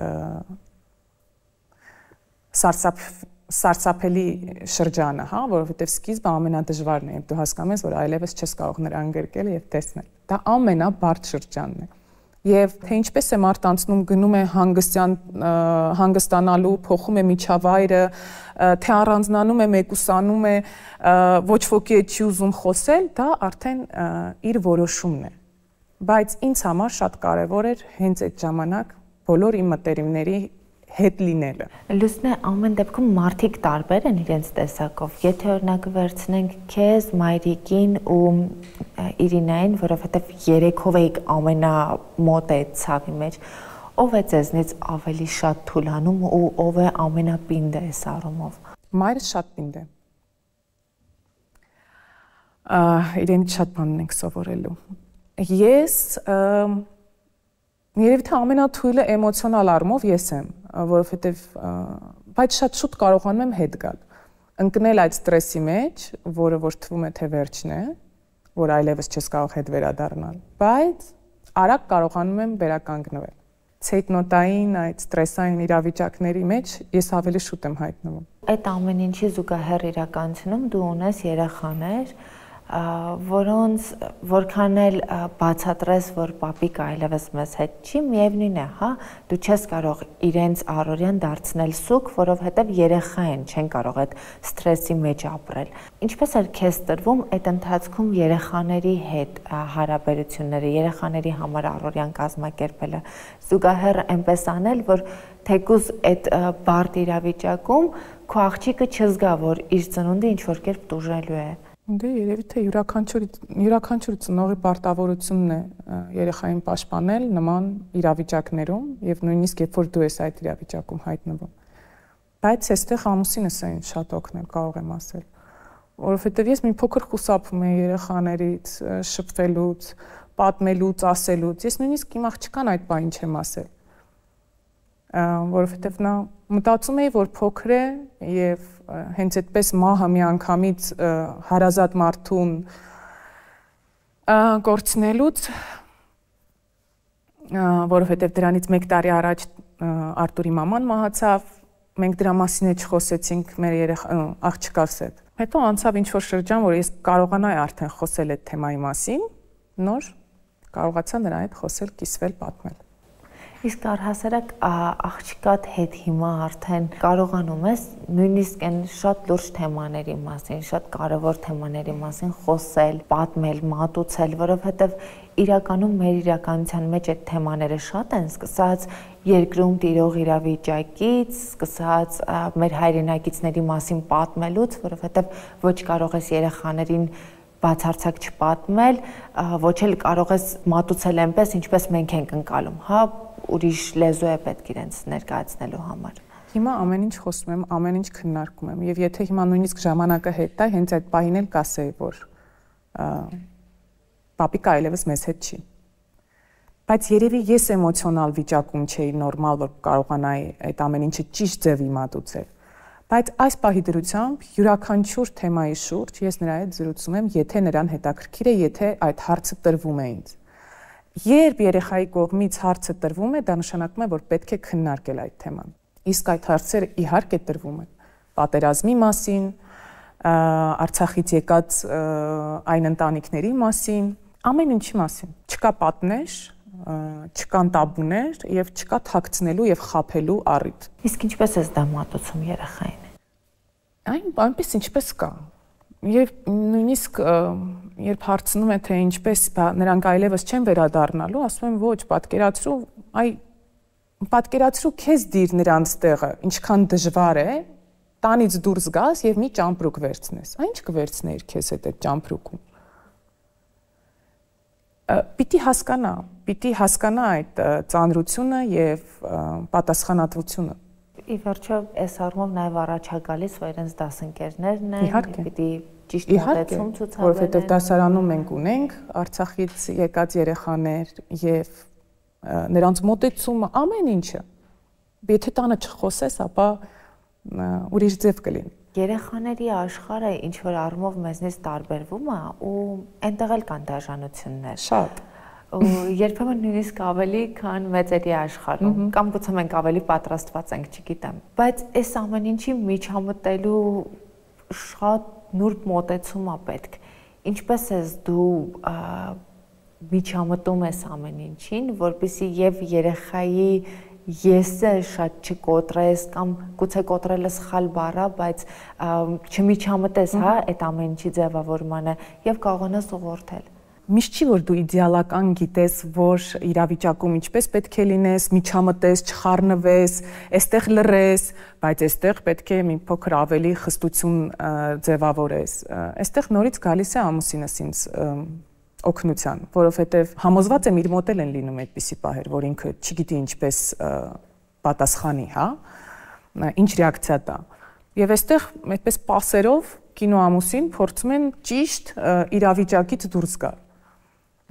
սարսափելի շրջանը, հա, որովհետև սկիզբը ամենադժվարն է, դու հասկանում ես, որ այլևս չես կարող նրան գրկել եւ տեսնել։ Դա ամենաբարդ շրջանն է։ Եվ թե ինչպես է մարդ անցնում, գնում է հանգստանալու, փոխում է միջավայրը, թե առանձնանում է, մեկուսանում է, ոչ ոքի հետ չի ուզում խոսել, դա արդեն իր որոշումն է։ բայց ինձ համար շատ կարևոր էր հենց այդ ժամանակ բոլոր իմ մտերիմների հետ լինելը։ Լուսնե, ամեն դեպքում մարդիկ տարբեր են իրենց տեսակով։ Եթե օրինակ վերցնենք քեզ, Մայրիկին ու Իրինային, որովհետև երեքով եք ամենամոտ է ցավի մեջ, ով է ձեզնից ավելի շատ թուլանում ու ով է ամենապինդը այս առումով։ Մայրս շատ պինդ է։ Իրենից շատ բաներ ենք սովորելու։ Ես երևի թե ամենաթույլը էմոցիոնալ առումով ես եմ, որովհետև բայց շատ շուտ կարողանում եմ հետ գալ, ընկնել այդ ստրեսի մեջ, որը որ թվում է թե վերջն է, որ այլևս չես կարող հետ վերադառնալ, բայց արագ կարողանում եմ վերականգնվել։ Ցեյտնոտային այդ ստրեսային իրավիճակների մեջ ես ավելի շուտ եմ հայտնվում։ Այդ ամեն ինչի զուգահեռ իրականությունում դու ունես երեխաներ, որոնց որքան էլ բացատրես, որ պապիկը այլևս մեզ հետ չի, միևնույն է, հա, դու չես կարող իրենց առօրյան դարձնել սուկ, որովհետև երեխա են, չեն կարող այդ ստրեսի մեջ ապրել։ Ինչպես էր քեզ տրվում այդ ընթացքում երեխաների հետ հարաբերությունները, երեխաների համար առօրյան կազմակերպելը, զուգահեռ այնպես անել, որ թեկուզ այդ բարդ իրավիճակում քո աղջիկը չզգա, որ իր ծնունդը ինչ որ կերպ տուժելու է։ Դե երևի թե յուրաքանչյուր ծնողի պարտավորությունն է երեխային պաշտպանել նման իրավիճակներում եւ նույնիսկ երբ որ դու ես այդ իրավիճակում հայտնվում։ Բայց այստեղ ամուսինս է ինձ շատ օգնել, կարող եմ ասել, որովհետեւ ես մի փոքր խուսափում եմ երեխաներից շփվելուց, պատմելուց, ասելուց։ Ես նույնիսկ իմ աղջկան այդ բանը չեմ ասել, որովհետեւ նա մտածում էի, որ փոքր է եւ հենց այդպես մահը միանգամից հարազատ մարդուն կորցնելուց, որովհետև դրանից 1 տարի առաջ Արտուրի մաման մահացավ, մենք դրա մասին չխոսեցինք մեր աղջկաս հետ։ Հետո անցավ ինչ-որ շրջան, որ ես կարողանայի արդեն խոսել այդ թեմայի մասին, նոր կարողացա նրա հետ խոսել, կիսվել, պատմել։ Իսկ առհասարակ աղջկադ հետ հիմա արդեն կարողանում ես նույնիսկ այն շատ լուրջ թեմաների մասին, շատ կարևոր թեմաների մասին խոսել, պատմել, մատուցել, որովհետև իրականում մեր իրականության մեջ այդ թեմաները շատ են, սկսած երկրում տիրող իրավիճակից, սկսած մեր հայրենակիցների մասին պատմելուց, որովհետև ոչ կարող ես երեխաներին բացարձակ չպատմել, ոչ էլ կարող ես մատուցել այնպես, ինչպես մենք ենք ընկալում, հա, ուրիշ լեզու է պետք իրենց ներկայացնելու համար։ Հիմա ամեն ինչ խոսում եմ, ամեն ինչ քննարկում եմ, եւ եթե հիմա նույնիսկ ժամանակը հետ տա, հենց այդ պահին էլ կասեի, որ պապիկը այլևս մեզ հետ չի։ Բայց երևի ես էմոցիոնալ վիճակում չէի նորմալ, որ կարողանայի այդ ամեն ինչը ճիշտ ձևի մատուցել։ Բայց այս պահի դրությամբ յուրաքանչյուր թեմայի շուրջ ես նրա հետ զրուցում եմ, եթե նրան հետաքրքիր է, եթե այդ հարցը տրվում է ինձ։ Երբ երեխայի կողմից հարցը տրվում է, դա նշանակում է, որ պետք է քննարկել այդ թեման։ Իսկ այդ հարցերը իհարկե տրվում են պատերազմի մասին, Արցախից եկած այն ընտանիքների մասին, ամեն ինչի մասին։ Չկա պատնեշ, չկան տաբուներ եւ չկա թաքցնելու եւ խաբելու առիթ։ Իսկ ինչպես ես դա մատուցում երեխային։ Այնպես ինչպես կա։ Եվ նույնիսկ երբ հարցնում է թե ինչպես նրանք այլևս չեն վերադառնալու, ասում եմ ոչ, պատկերացրու քեզ դիր նրանց տեղը, ինչքան դժվար է, տանից դուրս գաս եւ մի ճամպրուկ վերցնես։ Ինչ կվերցնեիր քեզ հետ այդ ճամպրուկում։ Պիտի հասկանա այդ ծանրությունը եւ պատասխանատվությունը։ Ի վերջո, այս առումով նաև առաջ է գալիս, որ իրենց դասընկերներն են, պիտի ճիշտ մոտեցում ցուցաբերեն։ Որովհետև դասարանում մենք ունենք Արցախից եկած երեխաներ եւ նրանց մոտեցումը ամեն ինչը։ Եթե տանը չխոսես, ապա ուրիշ ձև կլինի։ Երեխաների աշխարհը ինչ որ առումով մեզնից տարբերվում է ու այնտեղ էլ կան դաժանություններ։ Շատ։ Երբեմն նույնիսկ ավելի, քան մեծերի աշխարհում, կամ գուցե մենք ավելի պատրաստված ենք, չգիտեմ։ Բայց այս ամեն ինչի միջամտելու շատ նուրբ մոտեցում է պետք։ Ինչպես ես դու միջամտում ես ամեն ինչին, որպեսզի եւ երեխայի եսը շատ չկոտրես կամ գուցե կոտրելը սխալ բառ է, բայց չմիջամտես, հա, այդ ամեն ինչի ձևավորմանը եւ կարողանաս ուղղորդել։ Միշտ չի որ դու իդեալական գիտես, որ իրավիճակում ինչպես պետք է լինես, միջամտես, չխառնվես, այստեղ լռես, բայց այստեղ պետք է մի փոքր ավելի խստություն ձևավորես։ Այստեղ նորից գալիս է ամուսինս ինձ օգնության, որովհետև համոզված եմ իր մոտ են լինում այդպիսի պահեր, որ ինքը չգիտի ինչպես պատասխանի, հա, ինչ ռեակցիա տա։ Եվ այստեղ այդպես պասերով կինո ամուսին փորձում են ճիշտ իրավիճակից դուրս գալ,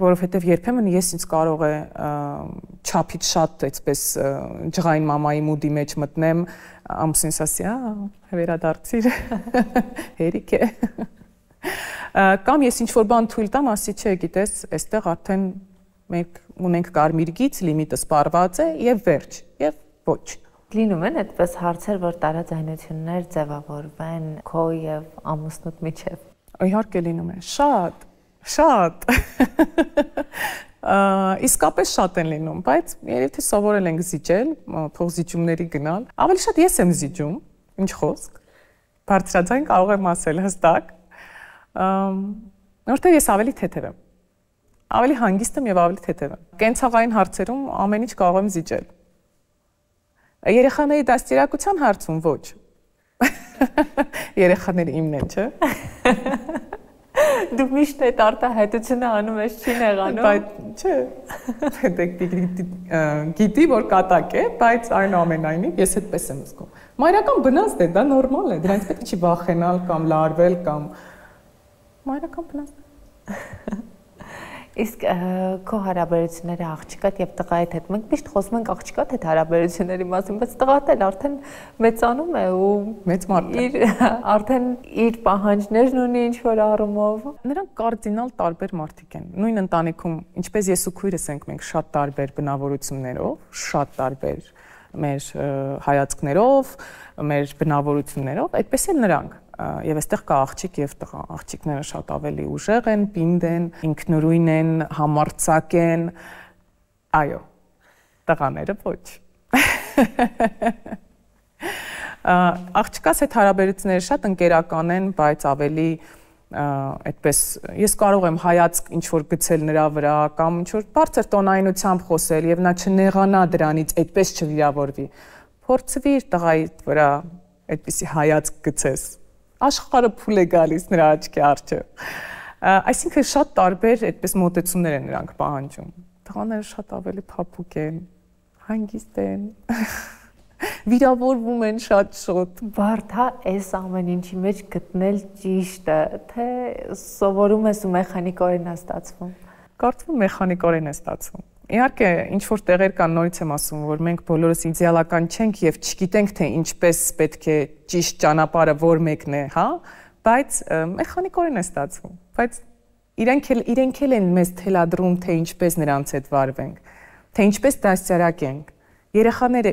որովհետև երբեմն ես ինձ կարող է չափից շատ այդպես ջղային մամայի մուդի մեջ մտնեմ, ամուսինս ասի, վերադարձիր, հերիք է։ Կամ ես ինչ-որ բան թույլ տամ, ասի, չէ, գիտես, այստեղ արդեն մենք ունենք կարմիր գիծ, լիմիտը սպառված է եւ վերջ, եւ ոչ։ Լինում են այդպես հարցեր, որ տարաձայնություններ ձևավորվեն քո եւ ամուսնուդ միջեւ։ Իհարկե լինում է, շատ։ Իսկապես շատ են լինում, բայց երբ թե սովորել ենք զիջել, փողզիջումների գնալ, ավելի շատ ես եմ զիջում, ինչ խոսք։ Բարձրաձայն կարող եմ ասել հստակ, որտեղ ես ավելի թեթև եմ, ավելի հանգիստ եմ եւ ավելի թեթև եմ։ Կենցաղային հարցերում ամեն ինչ կարող եմ զիջել։ Երեխաների դաստիարակության հարցում ոչ։ Երեխաները իմն են, չէ՞։ Դու միշտ այդ արտահայտությունը անում ես, չի նեղանում։ Բայց չէ։ Պետք գիտի, որ կատակ է, բայց այնուամենայնիվ ես այդպես եմ զգում։ Մայրական բնազդ է, դա նորմալ է, դրանից պետք չի վախենալ կամ լարվել կամ մայրական բնազդ է։ Իսկ քո հարաբերությունները աղջկադ եւ տղայիդ հետ մենք միշտ խոսում ենք աղջկադ հետ հարաբերությունների մասին, բայց տղադ էլ արդեն մեծանում է ու մեծ մարդ է։ Արդեն իր պահանջներն ունի ինչ որ առումով։ Նրանք կարդինալ տարբեր մարդիկ են։ Նույն ընտանիքում, ինչպես ես ու քույրս ենք, մենք շատ տարբեր բնավորություններով, շատ տարբեր մեր հայացքներով, մեր բնավորություններով, այդպես էլ նրանք։ Եվ այստեղ կա աղջիկ եւ տղա։ Աղջիկները շատ ավելի ուժեղ են, պինդ են, ինքնուրույն են, համարձակ են։ Այո, տղաները ոչ։ Աղջկաս հետ հարաբերությունները շատ ընկերական են, բայց ավելի այդպես ես կարող եմ հայացք ինչ որ գցել նրա վրա կամ ինչ որ բարձր տոնայնությամբ խոսել եւ նա չնեղանա դրանից, այդպես չվիրավորվի։ Փորձվի իր տղայի վրա այդպիսի հայացք գցես։ Աշխարհը փուլ է գալիս նրա աչքի առջև։ Այսինքն շատ տարբեր այդպես մոտեցումներ են նրանք պահանջում։ Տղաները շատ ավելի փափուկ են, հանգիստ են, վիրավորվում են շատ։ Բարդ է այս ամեն ինչի մեջ գտնել ճիշտը, թե սովորում ես ու մեխանիկորեն է ստացվում։ Կարծում եմ մեխանիկորեն է ստացվում։ Իհարկե, ինչ որ տեղեր կան, նորից եմ ասում, որ մենք բոլորս իդեալական չենք եւ չգիտենք թե ինչպես պետք է ճիշտ ճանապարհը որ մեկն է, հա, բայց մեխանիկորեն է ստացվում։ Բայց իրենք էլ են մեզ թելադրում, թե ինչպես նրանց հետ վարվենք, թե ինչպես դաստիարակենք։ Երեխաները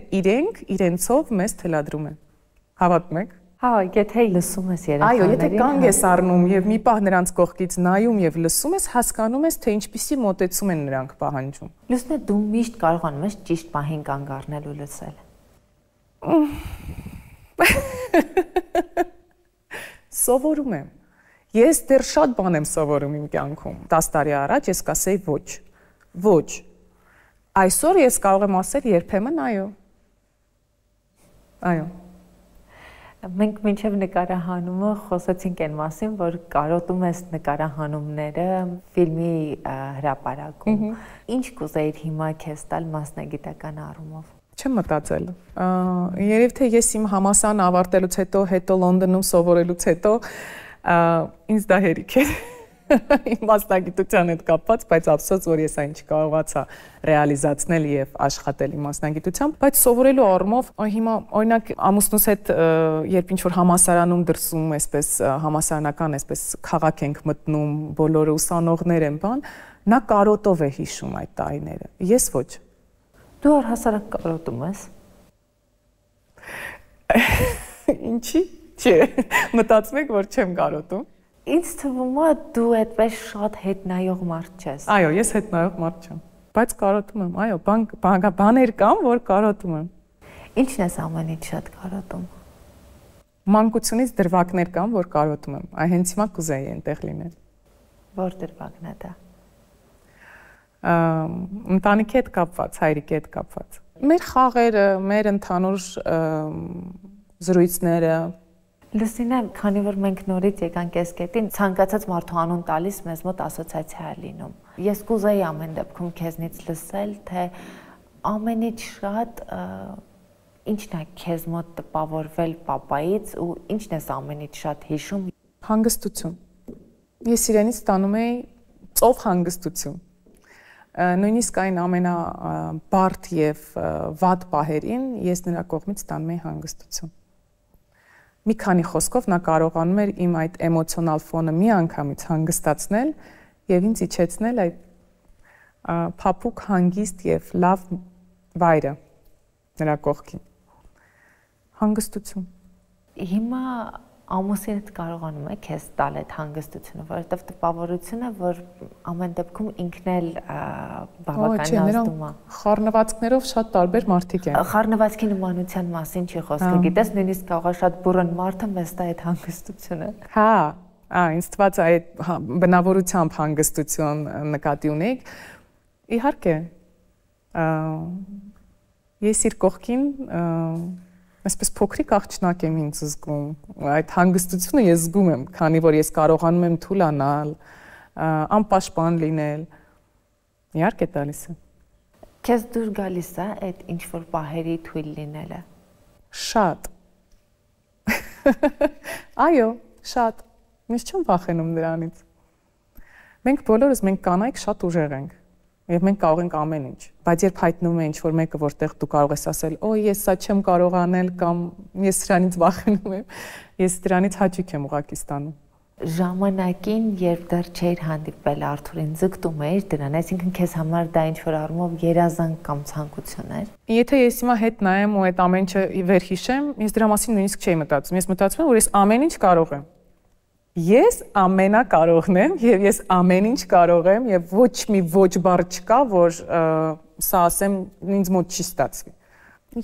իրենցով մեզ թելադրում են։ Հավատում եք։ Հա, եթե լսում ես երեխաներին։ Այո, եթե կանգ ես առնում եւ մի պահ նրանց կողքից նայում եւ լսում ես, հասկանում ես, թե ինչպիսի մոտեցում են նրանք պահանջում։ Լուսնե, դու միշտ կարողանում ես ճիշտ պահին կանգ առնել ու լսել։ Սովորում եմ։ Ես դեռ շատ բան եմ սովորում իմ կյանքում։ 10 տարի առաջ ես կասեի ոչ։ Ոչ։ Այսօր ես կարող եմ ասել երբեմն այո։ Այո։ Մենք մինչև նկարահանումը խոսեցինք այն մասին, որ կարոտում ես նկարահանումները ֆիլմի հրապարակում։ Ինչ կուզեիր հիմա քեզ տալ մասնագիտական առումով։ Չեմ մտածել։ Երևի թե ես իմ համալսարան ավարտելուց հետո Լոնդոնում սովորելուց հետո ինձ դա հերիք է։ Իմ մասնագիտության հետ կապված, բայց ափսոս որ ես այն չկարողացա ռեալիզացնել եւ աշխատել իմ մասնագիտությամբ, բայց սովորելու առումով հիմա օրինակ ամուսնուս հետ երբ ինչ որ համալսարանում դրսում այսպես համալսարանական այսպես քաղաք ենք մտնում, բոլորը ուսանողներ են, բան, նա կարոտով է հիշում այդ տարիները։ Ես ոչ։ Դու առհասարակ կարոտում ես։ Ինչի՞ չէ։ Մտածում եք որ չեմ կարոտում։ Ինձ թվում է դու այդպես շատ հետնայող մարդ չես։ Այո, ես հետնայող մարդ չեմ, բայց կարոտում եմ, այո, բաներ կան, որ կարոտում եմ։ Ինչն ես ամենից շատ կարոտում։ Մանկությունից դրվագներ կան, որ կարոտում եմ։ Այ հենց հիմա կուզեի այնտեղ լինել։ Որ դրվագն է դա։ Ընտանիքի հետ կապված, հայրիկի հետ կապված։ Մեր խաղերը, մեր ընդհանուր զրույցները։ Լուսինե, քանի որ մենք նորից եկանք այս կետին, ցանկացած մարդու անուն տալիս մեզ մոտ ասոցիացիա է լինում։ Ես կուզեի ամեն դեպքում քեզնից լսել, թե ամենից շատ ինչն է քեզ մոտ տպավորվել պապայից ու ինչն ես ամենից շատ հիշում։ Հանգստություն։ Ես իրենից ստանում էի ծով հանգստություն։ Նույնիսկ այն ամենաբարդ եւ վատ պահերին ես նրա կողմից ստանում էի հանգստություն։ Մի քանի խոսքով նա կարողանում էր իմ այդ էմոցիոնալ ֆոնը մի անգամից հանգստացնել եւ ինձ իջեցնել այդ փափուկ հանգիստ եւ լավ վայրը նրա կողքին։ Հանգստություն։ Հիմա ամուսինդ կարողանում է քեզ տալ այդ հանգստությունը, որովհետև տպավորությունը, որ ամեն դեպքում ինքն էլ բավականին ազդում է։ Խառնվածքներով շատ տարբեր մարդիկ են։ Խառնվածքի նմանության մասին չի խոսքը, գիտես, նույնիսկ կարող է շատ բուրըն մարդը մեզ տա այդ հանգստությունը։ Հա, ինձ թվաց այդ բնավորությամբ հանգստություն նկատի ունեիք։ Իհարկե, ես իր կողքին այսպես փոքրիկ աղջնակ եմ ինձ զգում, այդ հանգստությունը ես զգում եմ, քանի որ ես կարողանում եմ թուլանալ, անպաշտպան լինել, իհարկե տալիս է։ Քեզ դուր գալիս է այդ ինչ-որ պահերի թույլ լինելը։ Շատ։ Այո, շատ։ Ես չեմ վախենում դրանից։ Մենք բոլորս, մենք կանայք շատ ուժեղ ենք։ Եվ մենք կարող ենք ամեն ինչ, բայց երբ հայտնվում է ինչ-որ մեկը, որտեղ դու կարող ես ասել, «Օ, ես սա չեմ կարող անել» կամ «Ես սրանից վախենում եմ», ես դրանից հաճույք եմ ուղղակի ստանում։ Ժամանակին, երբ դեռ չէիր հանդիպել Արթուրին, ձգտում էիր դրան, այսինքն քեզ համար դա ինչ-որ առումով երազանք կամ ցանկություն էր։ Եթե ես հիմա հետ նայեմ ու այդ ամեն ինչը վերհիշեմ, ես դրա մասին նույնիսկ չէի մտածում։ Ես մտածում եմ, որ ես ամեն ինչ կարող եմ։ Ես ամենակարողն եմ եւ ես ամեն ինչ կարող եմ եւ ոչ մի ոչ բառ չկա, որ սա ասեմ ինձ մոտ չի ստացվի։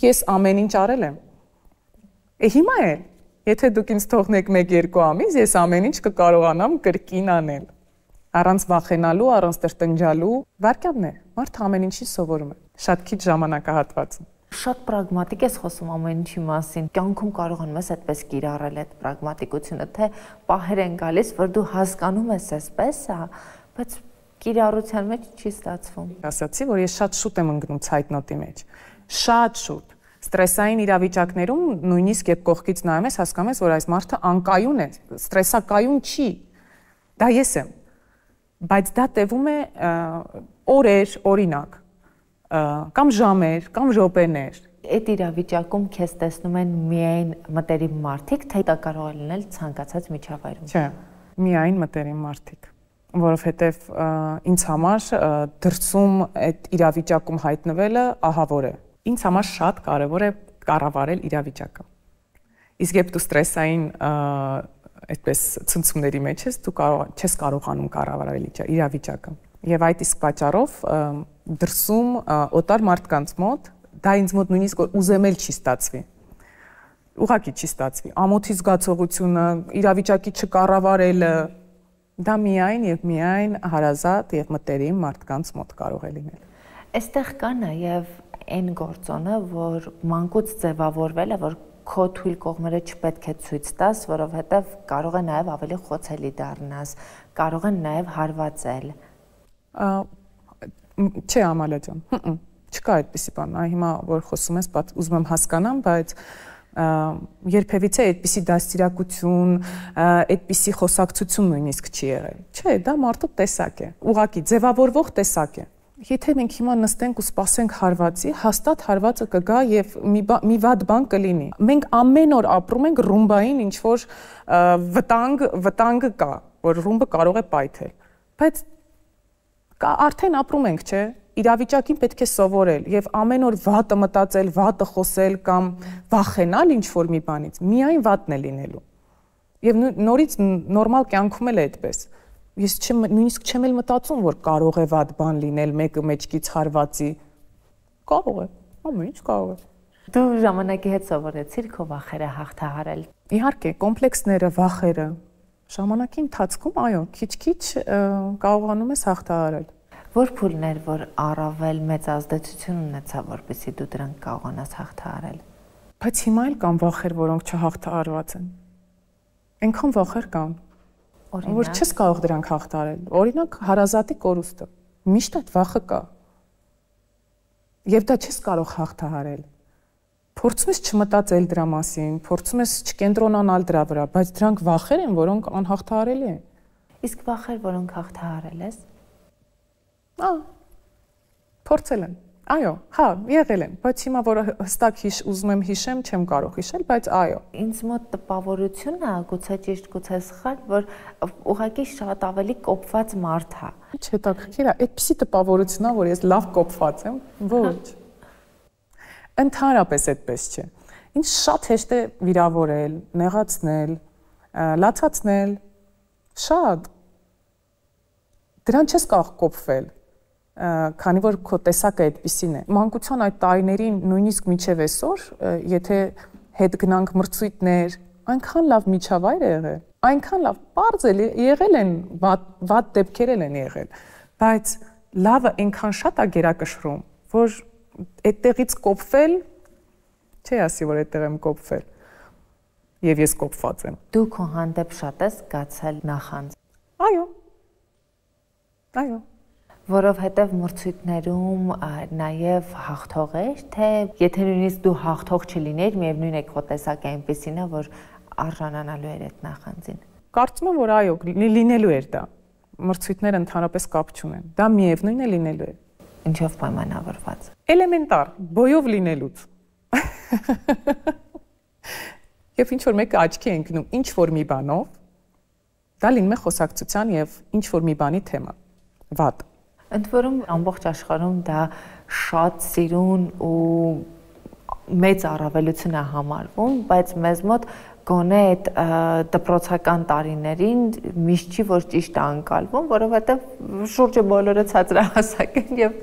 Ես ամեն ինչ արել եմ։ Հիմա է, եթե դուք ինձ թողնեք 1-2 ամիս, ես ամեն ինչ կկարողանամ կրկին անել։ Առանց վախենալու, առանց տրտնջալու, վարքյանն է։ Մարդը ամեն ինչի սովորում է։ Շատ քիչ ժամանակահատված։ Շատ պրագմատիկ ես խոսում ամեն ինչի մասին։ Կյանքում կարողանում ես այդպես կիրառել այդ պրագմատիկությունը, թե պահեր են գալիս, որ դու հասկանում ես այսպես, բայց կիրառության մեջ չի ստացվում։ Ասացի, որ ես շատ շուտ եմ ընկնում ցայտնոտի մեջ։ Շատ շուտ։ Ստրեսային իրավիճակներում նույնիսկ երբ կողքից նայում ես, հասկանում ես, որ այս մարդը անկայուն է, ստրեսակայուն չի։ Դա ես եմ։ Բայց դա տևում է օրեր, օրինակ, կամ ժամեր, կամ րոպեներ։ Այդ իրավիճակում քեզ տեսնում են միայն մտերիմ մարդիկ, թե դա կարող է լինել ցանկացած միջավայրում։ Չէ, միայն մտերիմ մարդիկ, որովհետև ինձ համար դրսում այդ իրավիճակում հայտնվելը ահավոր է։ Ինձ համար շատ կարևոր է կառավարել իրավիճակը։ Իսկ երբ դու ստրեսային այդպես ցնցումների մեջ ես, դու չես կարողանում կառավարել իրավիճակը։ Եվ այդ իսկ պատճառով դրսում օտար մարդկանց մոտ դա ինձ մոտ նույնիսկ ուզեմ էլ չի ստացվի։ Ուղղակի չի ստացվի։ Ամոթի զգացողությունը, իրավիճակի չկառավարելը դա միայն եւ միայն հարազատ եւ մտերիմ մարդկանց մոտ կարող է լինել։ Այստեղ կա նաեւ այն գործոնը, որ մանկուց ձևավորվել է, որ քո թույլ կողմերը չպետք է ցույց տաս, որովհետեւ կարող է նաեւ ավելի խոցելի դառնաս, կարող են նաեւ հարվածել։ Չէ, Ամալա ջան, չկա այդպիսի բան։ Հիմա որ խոսում ես, ուզում եմ հասկանամ, բայց երբևիցե այդպիսի դաստիարակություն, այդպիսի խոսակցություն նույնիսկ չի եղել։ Չէ, դա մարդու տեսակ է, ուղղակի ձևավորվող տեսակ է։ Եթե մենք հիմա նստենք ու սպասենք հարվածի, հաստատ հարվածը կգա եւ մի վատ բան կլինի։ Մենք ամեն օր ապրում ենք ռումբային ինչ-որ վտանգը կա, որ ռումբը կարող է պայթել։ Բայց արդեն ապրում ենք, չէ՞։ Իրավիճակին պետք է սովորել եւ ամեն օր վատը մտածել, վատը խոսել կամ վախենալ ինչ-որ մի բանից, միայն վատն է լինելու։ Եվ նորից նորմալ կյանքում էլ է այդպես։ Ես նույնիսկ չեմ էլ մտածում, որ կարող է վատ բան լինել, մեկը մեջքից հարվածի։ Կարող է, ամեն ինչ կարող է։ Դու ժամանակի հետ սովորեցիր քո վախերը հաղթահարել։ Իհարկե, կոմպլեքսները, վախերը ժամանակի ընթացքում, այո, քիչ-քիչ կարողանում ես հաղթահարել։ Որ փուլներ, որ առավել մեծ ազդեցություն ունեցավ, որպեսզի դու դրանք կարողանաս հաղթահարել։ Բայց հիմա էլ կան վախեր, որոնք չհաղթահարված են։ Այնքան վախեր կան, որ չես կարող դրանք հաղթահարել։ Օրինակ, հարազատի կորուստը։ Միշտ այդ վախը կա։ Եվ դա չես կարող հաղթահարել։ Փորձում ես չմտածել դրա մասին, փորձում ես չկենտրոնանալ դրա վրա, բայց դրանք վախեր են, որոնք անհաղթահարելի են։ Իսկ վախեր, որոնք հաղթահարել ես։ Փորձել եմ։ Այո, հա, եղել են, բայց հիմա որ հստակ ուզում եմ հիշեմ, չեմ կարող հիշել, բայց այո։ Ինձ մոտ տպավորությունն է, գուցե ճիշտ, գուցե սխալ, որ ուղղակի շատ ավելի կոփված մարդ է։ Ինչ հետաքրքիր է, այդպիսի տպավորություն է, որ ես լավ կոփված եմ։ Ոչ։ Ընդհանրապես այդպես չէ։ Ինչ շատ հեշտ է վիրավորել, նեղացնել, լացացնել, շատ։ Դրան չես կարող կոփվել, քանի որ քո տեսակը այդպիսին է։ Մանկության այդ տարիներին, նույնիսկ մինչև այսօր, եթե հետ գնանք մրցույթներ, այնքան լավ միջավայր է եղել, այնքան լավ պարզ է եղել են, վատ դեպքեր են եղել, բայց լավը այնքան շատ է գերակշռում, որ այդտեղից կոփվել, չի ասի, որ այդտեղ եմ կոփվել, եւ ես կոփված եմ։ Դու քո հանդեպ շատ ես զգացել նախանձ։ Այո։ Այո։ Որովհետև մրցույթներում նաև հաղթող էր, թե եթե նույնիսկ դու հաղթող չլիներ, միևնույն է քո տեսակը այնպեսին է, որ արժանանալու էր այդ նախանձին։ Կարծում եմ, որ այո, լինելու էր դա։ Մրցույթները ընդհանրապես կապ չունեն։ Դա միևնույն է լինելու է։ Ինչով պայմանավորված։ Էլեմենտար, բոյով լինելուց։ Եվ ինչ որ մեկը աչքի է ընկնում ինչ որ մի բանով, դա լինում է խոսակցության եւ ինչ որ մի բանի թեմա։ Վատ։ Ընդ որում ամբողջ աշխարհում դա շատ սիրուն ու մեծ առավելություն է համարվում, բայց մեզ մոտ գոնե այդ դպրոցական տարիներին միշտ չի որ ճիշտ է անցալվում, որովհետև շուրջը բոլորը ցածրահասակ են եւ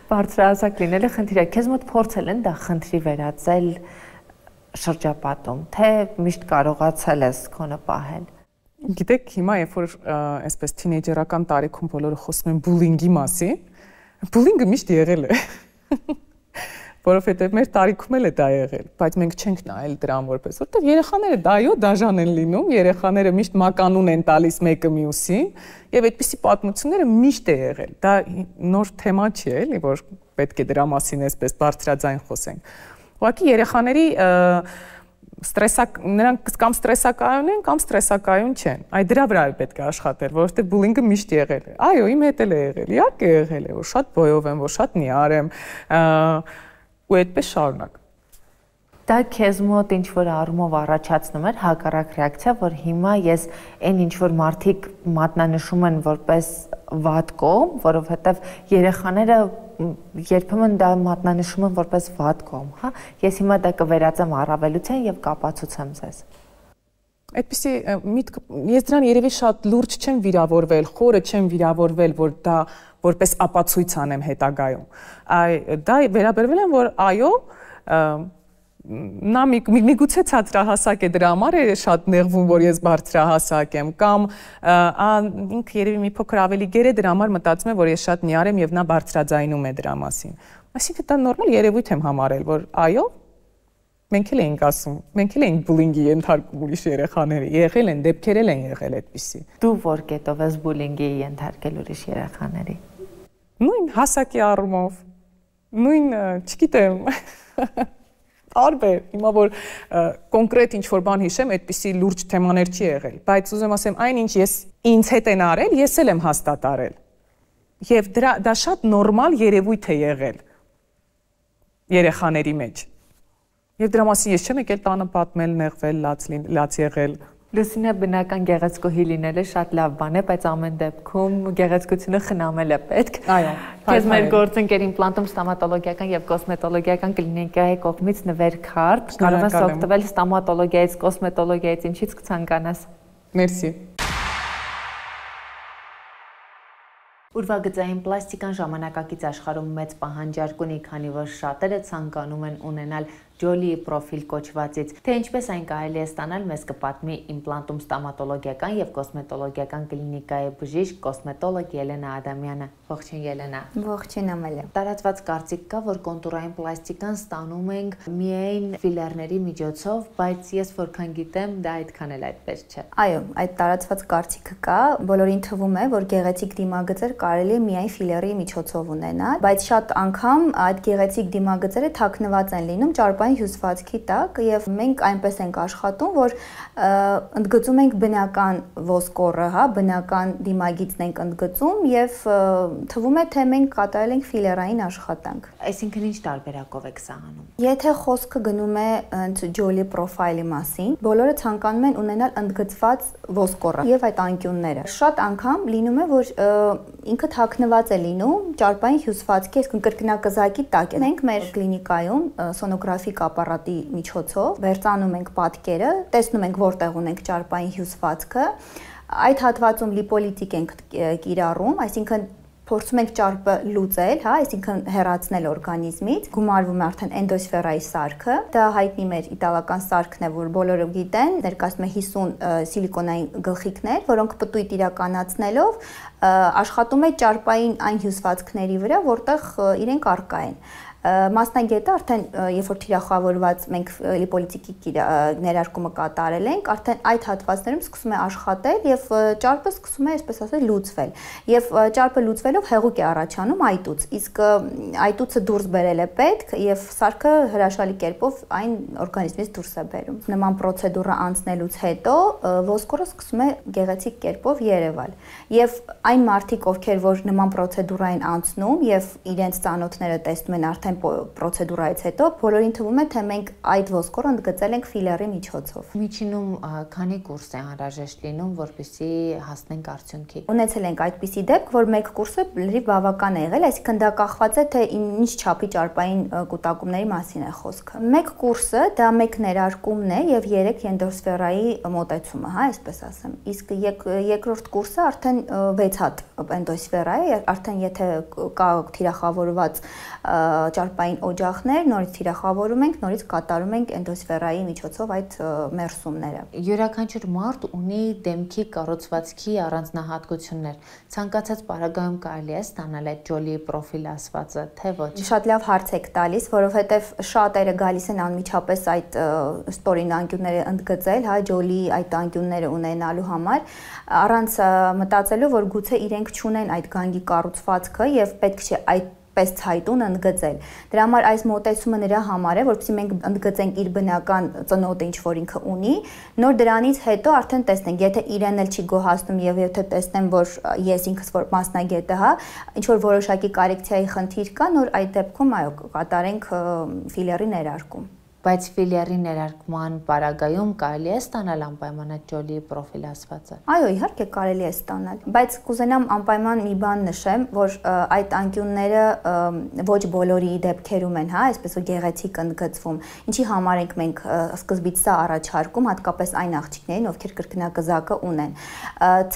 բարձրահասակ լինելը խնդիր է։ Քեզ մոտ փորձել են դա խնդրի վերածել շրջապատում, թե միշտ կարողացել ես քոնը պահել։ Գիտեք, հիմա երբ որ այսպես թինեյջերական տարիքում բոլորը խոսում են բուլինգի մասին, բուլինգը միշտ եղել է։ Որովհետև մեր տարիքում էլ է դա եղել, բայց մենք չենք նայել դրան որպես, որտեղ երեխաները դայո դաժան են լինում, երեխաները միշտ մականուն են տալիս մեկը մյուսին, եւ այդպիսի պատմությունները միշտ է եղել։ Դա նոր թեմա չի էլի, որ պետք է դրա մասին այսպես բարձրաձայն խոսենք։ Ուղղակի երեխաների նրանք կամ ստրեսակայուն են, կամ ստրեսակայուն չեն։ Այ դրա վրա է պետք է աշխատել, որովհետև բուլինգը միշտ եղել է։ Այո, իմ հետ էլ է եղել։ Իհարկե եղել է, որ շատ բոյով եմ, որ շատ նիար եմ, ու այդպես շարունակ։ Դա քեզ մոտ ինչ որ առումով առաջացնում էր հակառակ ռեակցիա, որ հիմա ես այն ինչ որ մարդիկ մատնանշում են որպես վատ կողմ, որովհետև երեխաները երբեմն դա մատնանշում են որպես վատ կողմ, հա, ես հիմա դա կվերածեմ առավելության եւ կապացուցեմ ձեզ։ Այդպիսի միտք, ես դրան երևի շատ լուրջ չեմ վիրավորվել, խորը չեմ վիրավորվել, որ դա որպես ապացույց անեմ հետագայում։ Դա վերաբերվել եմ, որ այո, նա միգուցե ցածրահասակ է, դրա համար է շատ նեղվում, որ ես բարձրահասակ եմ, կամ ինքը երևի մի փոքր ավելի գեր է, դրա համար մտածում է, որ ես շատ նիար եմ եւ նա բարձրաձայնում է դրա մասին։ Այսինքն դա նորմալ երևույթ եմ համարել, որ այո, մենք էլ էինք ասում, մենք էլ էինք բուլինգի ենթարկում ուրիշ երեխաները, եղել են, դեպքեր են եղել այդպիսի։ Դու որ կետով ես բուլինգի ենթարկել ուրիշ երեխաների։ Նույն հասակի առումով, նույն, չգիտեմ, տարբեր, հիմա որ կոնկրետ ինչ-որ բան հիշեմ, այդպիսի լուրջ թեմաներ չի եղել, բայց ուզեմ ասեմ, այն ինչ ես ինձ հետ են արել, ես էլ եմ հաստատ արել։ Եվ դա շատ նորմալ երևույթ է եղել երեխաների մեջ։ Եվ դրա մասին ես չեմ եկել տանը պատմել, նեղվել, լաց եղել։ Լուսինա, բնական գեղեցկուհի լինելը շատ լավ բան է, բայց ամեն դեպքում գեղեցկությունը խնամել է պետք։ Այո։ Քեզ մեր գործընկեր իմպլանտում ստոմատոլոգիական եւ կոսմետոլոգիական կլինիկայի կողմից նվեր քարտ, կարող ես օգտվել ստոմատոլոգիայից, կոսմետոլոգիայից, ինչից կցանկանաս։ Մերսի։ Ուրվագծային պլաստիկան ժամանակակից աշխարհում մեծ պահանջարկ ունի, քանի որ շատերը ցանկանում են ունենալ Jolie Profil կոչվածից, թե ինչպես այն կարելի է ստանալ, մեզ կպատմի Implantum ստոմատոլոգիական եւ կոսմետոլոգիական կլինիկայի բժիշկ կոսմետոլոգ Ելենա Ադամյանը։ Ողջույն Ելենա։ Ողջույն Ամալիա։ Տարածված կարծիք կա, որ կոնտուրային պլաստիկան ստանում ենք միայն ֆիլերների միջոցով, բայց ես որքան գիտեմ, դա այդքան էլ այդպես չէ։ Այո, այդ տարածված կարծիքը կա, բոլորին թվում է, որ գեղեցիկ դիմագծեր կարելի է միայն ֆիլերի միջոցով ունենալ, բայց շատ անգամ այդ գեղեցիկ դիմագծերը թաքնված են լինում ճարպային հյուսվածքի տակ եւ մենք այնպես ենք աշխատում, որ ընդգծում ենք բնական ոսկորը, հա, բնական դիմագիծն ենք ընդգծում եւ թվում է, թե մենք կատարել ենք ֆիլերային աշխատանք։ Այսինքն ինչ տարբերակով եք սա անում։ Եթե խոսքը գնում է Jolie Profile-ի մասին, բոլորը ցանկանում են ունենալ ընդգծված ոսկորը եւ այդ անկյունները։ Շատ անգամ լինում է, որ ինքը թաքնված է լինում ճարպային հյուսվածքի, այսինքն կրկնակզակի տակ է։ Մենք մեր կլինիկայում սոնոգրաֆիկ ապարատի միջոցով վերցանում ենք պատկերը, տեսնում ենք որտեղ ունենք ճարպային հյուսվածքը, այդ հատվածում լիպոլիտիկ ենք կիրառում, այսինքն փորձում ենք ճարպը լուծել, հա, այսինքն հեռացնել օրգանիզմից, գումարվում է արդեն էնդոսֆերայի սարքը, դա հայտնի մեր իտալական սարքն է, որ բոլորը գիտեն, ներկայացնում է 50 սիլիկոնային գլխիկներ, որոնք պտույտ իրականացնելով աշխատում է ճարպային այն հյուսվածքների վրա, որտեղ իրենք առկա են։ Մասնագետը արդեն երբ որ թիրախավորված մենք լիպոլիտիկի ներարկումը կատարել ենք, արդեն այդ հատվածներում սկսում է աշխատել եւ ճարպը սկսում է, այսպես ասած, լուծվել։ Եվ ճարպը լուծվելով հեղուկ է առաջանում այտուց։ Իսկ այտուցը դուրս բերել է պետք եւ սարքը հրաշալի կերպով այն օրգանիզմից դուրս է բերում։ Նման պրոցեդուրը անցնելուց հետո ոսկորը սկսում է գեղեցիկ կերպով երևալ։ Եվ այն մարդիկ, ովքեր որ նման պրոցեդուրա են անցնում եւ իրենց ծանոթները տեսնում են արդեն պրոցեդուրայից հետո բոլորին թվում է, թե մենք այդ ոսկորը ընդգծել ենք ֆիլերի միջոցով։ Միջինում քանի կուրս է անհրաժեշտ լինում, որպեսզի հասնենք արդյունքի։ Ունեցել ենք այդպիսի դեպք, որ մեկ կուրսը լրիվ բավական է եղել, այսինքն դա կախված է, թե ինչ չափի ճարպային կուտակումների մասին է խոսքը։ Մեկ կուրսը դա մեկ ներարկումն է եւ 3 էնդոսֆերայի մոտեցումը, հա, այսպես ասեմ։ Իսկ երկրորդ կուրսը արդեն 6 հատ էնդոսֆերա է, արդեն եթե կա թիրախավորված ճարպային օջախներ, նորից թիրախավորում ենք, նորից կատարում ենք էնդոսֆերայի միջոցով այդ մերսումները։ Յուրաքանչյուր մարդ ունի դեմքի կառուցվածքի առանձնահատկություններ։ Ցանկացած պարագայում կարելի է ստանալ այդ Jolie Profil ասվածը, թե ոչ։ Շատ լավ հարց եք տալիս, որովհետև շատերը գալիս են անմիջապես այդ ստորին անկյունները ընդգծել, հա, Jolie այդ անկյունները ունենալու համար, առանց մտածելու, որ գուցե իրենք չունեն այդ գանգի կառուցվածքը եւ պետք չէ այդ պես ցայտուն ընդգծել։ Դրա համար այս մոտեցումը նրա համար է, որովհետեւ մենք ընդգծենք իր բնական ծնոտը, ինչ որ ինքը ունի, նոր դրանից հետո արդեն տեսնենք, եթե իրեն էլ չի գոհացնում եւ եթե տեսնեմ, որ ես ինքս որ մասնագետը, հա, ինչ որ որոշակի կորեկցիայի խնդիր կա, նոր այդ դեպքում այո, կատարենք ֆիլերի ներարկում։ Բայց ֆիլերի ներարկման պարագայում կարելի է ստանալ անպայման այդ Jolie Profil ասվածը։ Այո, իհարկե կարելի է ստանալ, բայց կուզենամ անպայման մի բան նշեմ, որ այդ անկյունները ոչ բոլորի դեպքերում են, հա, այսպես որ գեղեցիկ ընդգծվում։ Ինչի համար ենք մենք սկզբից սա առաջարկում, հատկապես այն աղջիկներին, ովքեր կրկնակզակը ունեն։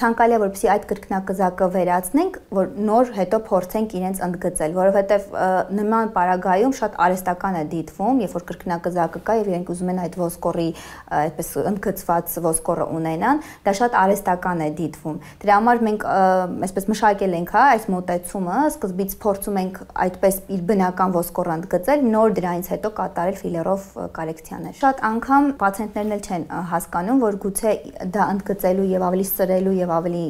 Ցանկալի է, որպեսզի այդ կրկնակզակը վերացնենք, որ նոր հետո փորձենք իրենց ընդգծել, որովհետև նման պարագայում շատ արհեստական է դիտվում, երբ որ կրկնակզակը կա եւ իրենք ուզում են այդ ոսկորի այդպես ընդգծված ոսկորը ունենան, դա շատ արհեստական է դիտվում։ Դրա համար մենք այսպես մշակել ենք, հա, այս մոտեցումը, սկզբից փորձում ենք այդպես իր բնական ոսկորը ընդգծել, նոր դրանից հետո կատարել ֆիլերով կորեկցիաներ։ Շատ անգամ պացիենտներն էլ չեն հասկանում, որ գուցե դա ընդգծելու եւ ավելի սրելու եւ ավելի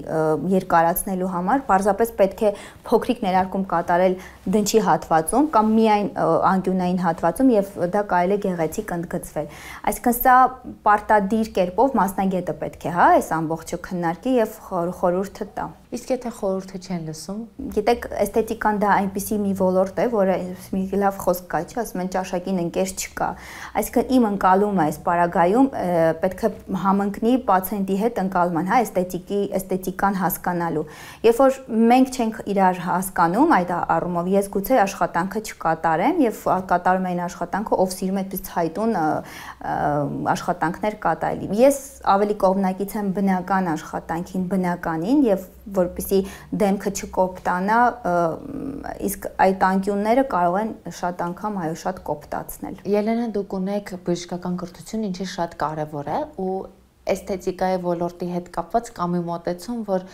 երկարացնելու համար պարզապես պետք է փոքրիկ ներարկում կատարել դնչի հատվածում կամ միայն անկյունային հատվածում եւ դա կարելի է գեղեցիկ ընդգծվել։ Այսինքն սա պարտադիր կերպով մասնագետը պետք է, հա, այս ամբողջը քննարկի եւ խորհուրդը տա։ Իսկ եթե խորհուրդը չեն լսում, գիտեք, էսթետիկան դա այնպիսի մի ոլորտ է, որը մի լավ խոսք կա, չէ, ասում են ճաշակին ընկեր չկա։ Այսինքն իմ ընկալումը այս պարագայում պետք է համընկնի պացիենտի հետ ընկալման, հա, էսթետիկան հասկանալու։ Երբ որ մենք չենք իրար հասկանում այդ առումով, ես գուցե աշխատանքը չկատարեմ եւ կատարում այն աշխատանքը, ով սիրում է այդպես ցույցայտուն աշխատանքներ կատարելի։ Ես ավելի կողմնակից եմ բնական աշխատանքին, բնականին եւ որպեսզի դեմքը չկոպտանա, իսկ այդ անկյունները կարող են շատ անգամ այո շատ կոպտացնել։ Ելենա, դուք ունեք բժշկական կրթություն, ինչը շատ կարևոր է ու էսթետիկայի ոլորտի հետ կապված կա մի մոտեցում, որ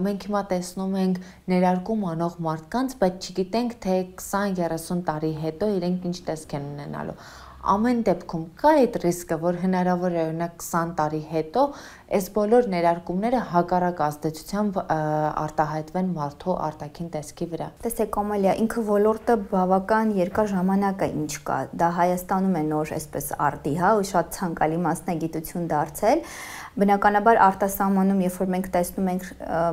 մենք հիմա տեսնում ենք ներարկում անող մարդկանց, բայց չգիտենք, թե 20-30 տարի հետո իրենք ինչ տեսք են ունենալու։ Ամեն դեպքում կա այդ ռիսկը, որ հնարավոր է օրինակ 20 տարի հետո այս բոլոր ներարկումները հակառակ ազդեցությամբ արտահայտվեն մարդու արտաքին տեսքի վրա։ Տեսեք, Ամալիա, ինքը ոլորտը բավական երկար ժամանակ է ինչ կա։ Դա Հայաստանում է նոր այսպես արտի, հա, ու շատ ցանկալի մասնագիտություն դարձել։ Բնականաբար արտասահմանում, երբ որ մենք տեսնում ենք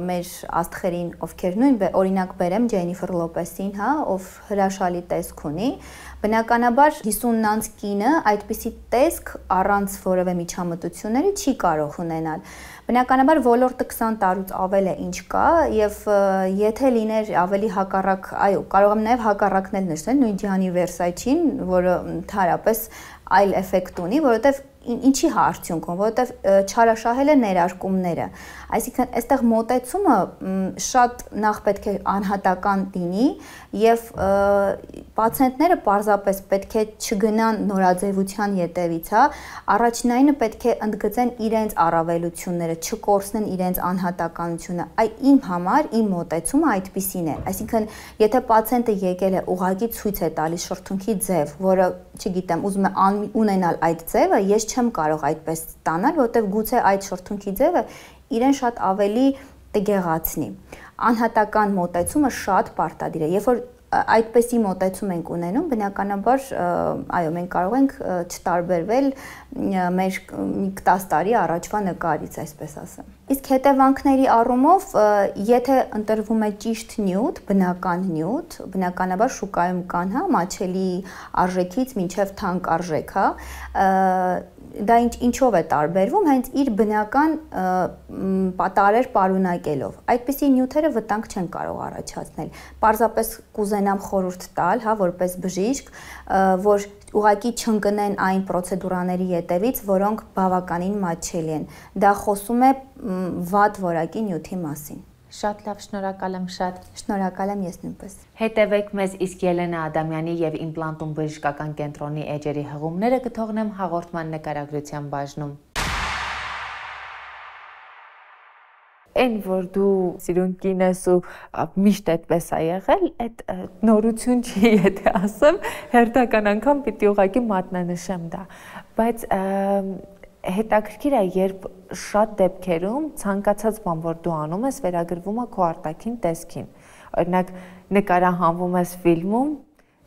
մեր աստղերին, ովքեր նույն օրինակ բերեմ Ջենիֆեր Լոպեսին, հա, ով հրաշալի տեսք ունի, բնականաբար 50-անց կինը այդպիսի տեսք առանց որևէ միջամտությունների չի կարող ունենալ։ Բնականաբար ոլորտը 20 տարուց ավել է ինչ կա եւ եթե լիներ ավելի հակառակ, այո, կարող եմ նաեւ հակառակնել նշել նույն Ջանի Վերսաչին, որը ընդհանրապես այլ էֆեկտ ունի, որովհետեւ ինչի արդյունքում, որովհետև չարաշահել է ներարկումները։ Այսինքն, այստեղ մոտեցումը շատ նախ պետք է անհատական լինի եւ պացիենտները պարզապես պետք է չգնան նորաձևության ետևից, հա, առաջնայինը պետք է ընդգծեն իրենց առավելությունները, չկորցնեն իրենց անհատականությունը։ Իմ համար իմ մոտեցումը այդպիսին է։ Այսինքն, եթե պացիենտը եկել է ուղղակի ցույց է տալիս շրթունքի ձև, որը, չգիտեմ, ուզում է ունենալ այդ ձևը, ես չեմ կարող այդպես ստանալ, որովհետև գուցե այդ շրթունքի ձևը իրեն շատ ավելի տգեղացնի։ Անհատական մոտեցումը շատ պարտադիր է։ Երբ որ այդպեսի մոտեցում ենք ունենում, բնականաբար, այո, մենք կարող ենք չտարբերվել մեր 10 տարի առաջվա նկարից, այսպես ասեմ։ Իսկ հետևանքների առումով, եթե ընտրվում է ճիշտ նյութ, բնական նյութ, բնականաբար շուկայում կան, հա, մատչելի արժեքից մինչև թանկ արժեք, հա, դա ինչով է տարբերվում, հենց իր բնական տարեր պարունակելով։ Այդպիսի նյութերը վտանգ չեն կարող առաջացնել։ Պարզապես կուզենամ խորհուրդ տալ, հա, որպես բժիշկ, որ ուղղակի չընկնեն այն պրոցեդուրաների ետևից, որոնք բավականին մատչելի են։ Դա խոսում է վատ որակի նյութի մասին։ Շատ լավ, շնորհակալ եմ շատ։ Շնորհակալ եմ ես նույնպես։ Հետևեք մեզ, իսկ Ելենա Ադամյանի եւ Իմպլանտում բժշկական կենտրոնի էջերի հղումները կթողնեմ հաղորդման նկարագրության բաժնում։ Այն որ դու սիրուն կին ես ու միշտ այդպես է եղել, այդ նորություն չի, եթե ասեմ, հերթական անգամ պիտի ուղղակի մատնանշեմ դա, բայց հետաքրքիր է, երբ շատ դեպքերում ցանկացած բան, որ դու անում ես, վերագրվում է քո արտաքին տեսքին։ Օրինակ, նկարահանվում ես ֆիլմում,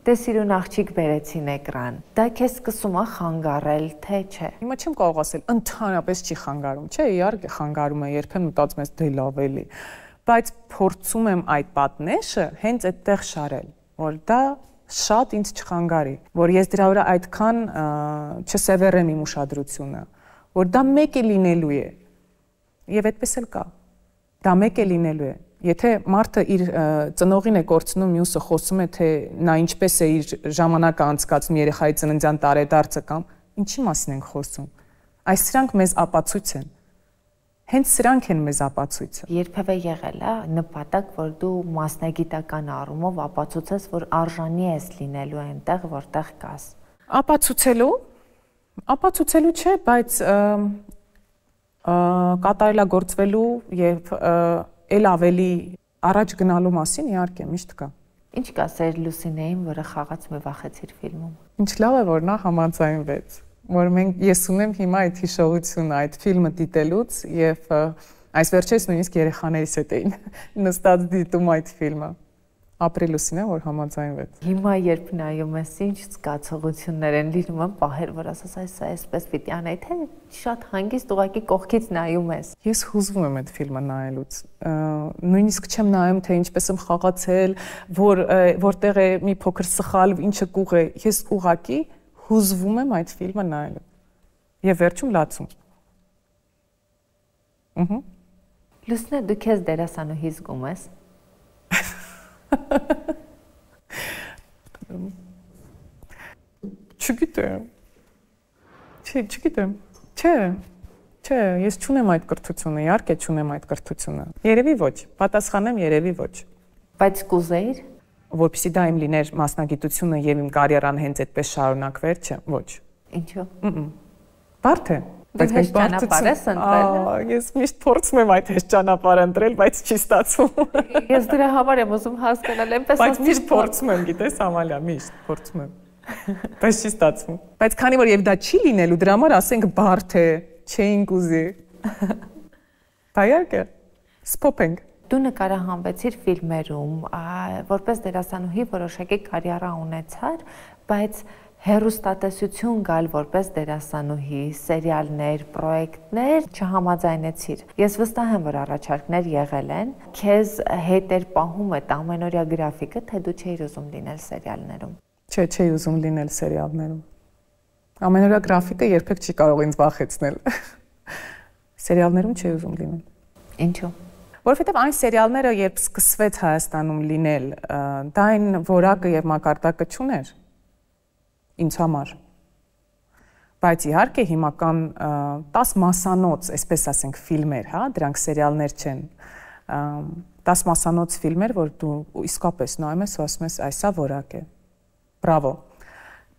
դե սիրուն աղջիկ բերեցին էկրան։ Դա քեզ սկսում է խանգարել, թե չէ։ Հիմա չեմ կարող ասել, ընդհանրապես չի խանգարում, չէ, իհարկե խանգարում է, երբեմն մտածում ես դե լավ էլի, բայց փորձում եմ այդ պատնեշը հենց այդտեղ շարել, որ դա շատ ինձ չխանգարի, որ ես դրա վրա այդքան չսևեռեմ իմ ուշադրությունը, որ դա մեկ է լինելու է, եւ այդպես էլ կա, դա մեկ է լինելու է, եթե մարդը իր ծնողին է կորցնում, մյուսը խոսում է, թե նա ինչպես է իր ժամանակը անցկացնում երեխայի ծննդյան տարեդարձը կամ ինչի մասին ենք խոսում, այս սրանք մեզ ապացույց են, հենց սրանք են մեզ ապացույցը։ Երբևէ եղել է նպատակ, որ դու մասնագիտական առումով ապացուցես, որ արժանի ես լինելու այնտեղ, որտեղ կաս։ Ապացուցելու չէ, բայց կատարելագործվելու եւ էլ ավելի առաջ գնալու մասին իհարկե միշտ կա։ Ինչ կասեր Լուսինեին, որը խաղաց մի վախեցիր ֆիլմում։ Ինչ լավ է, որ նա համաձայնվեց, որ ես ունեմ հիմա այդ հիշողությունը այդ ֆիլմը դիտելուց եւ այս վերջերս նույնիսկ երեխաներիս հետ էին նստած դիտում այդ ֆիլմը։ Ապրիլուսին է, որ համաձայնվեց։ Հիմա երբ նայում ես, ինչ զգացողություններ են լինում, պահեր, որ ասես այսպես պիտի անեի, թե շատ հանգիստ ուղղակի կողքից նայում ես։ Ես հուզվում եմ այդ ֆիլմը նայելուց։ Նույնիսկ չեմ նայում, թե ինչպես եմ խաղացել, որտեղ է մի փոքր սխալ, ինչը կուղ է։ Ես ուղղակի հուզվում եմ այդ ֆիլմը նայելու։ Եվ վերջում լացում։ Լուսնե, դու քեզ դերասանուհի զգում ես։ Չգիտեմ, Չգիտեմ։ Չէ, ես չունեմ այդ կրթությունը, իհարկե չունեմ այդ կրթությունը։ Երևի ոչ, պատասխանեմ երևի ոչ։ Բայց կուզեիր, որպեսզի դա իմ լիներ մասնագիտությունը եւ իմ կարիերան հենց այդպես շարունակվեր, չէ, ոչ։ Ինչու։ Բարդ է։ Բայց հեշտ ճանապարհ ես ընտրել։ Ես միշտ փորձում եմ այդ հեշտ ճանապարհը ընտրել, բայց չի ստացվում։ Ես դրա համար եմ ուզում հասկանալ, այնպես Բայց միշտ փորձում եմ, գիտես, Ամալիա, միշտ փորձում եմ։ Բայց չի ստացվում։ Բայց քանի որ եւ դա չի լինելու, դրա համար ասենք բարդ է, չէինք ուզի։ Բայարկե։ Սփոփենք։ Դու նկարահանվեցիր ֆիլմերում, որպես դերասանուհի որոշակի կարիերա ունեցար, բայց հեռուստատեսություն գալ որպես դերասանուհի, սերիալներ, պրոյեկտներ չհամաձայնեցիր։ Ես վստահ եմ, որ առաջարկներ եղել են, քեզ հետ էր պահում այդ ամենօրյա գրաֆիկը, թե դու չէիր ուզում լինել սերիալներում։ Չէ, չէի ուզում լինել սերիալներում։ Ամենօրյա գրաֆիկը երբեք չի կարող ինձ վախեցնել։ Սերիալներում չէի ուզում լինել։ Ինչու՞։ Որովհետև այն սերիալները, երբ սկսվեց Հայաստանում լինել, դա այն որակը եւ մակարդակը չուներ ինձ համար։ Բայց իհարկե հիմական 10 մասանոց, այսպես ասենք, ֆիլմեր, հա, դրանք սերիալներ չեն։ 10 մասանոց ֆիլմեր, որ դու իսկապես նայում ես ու ասում ես, այսա որակ է։ Բրավո։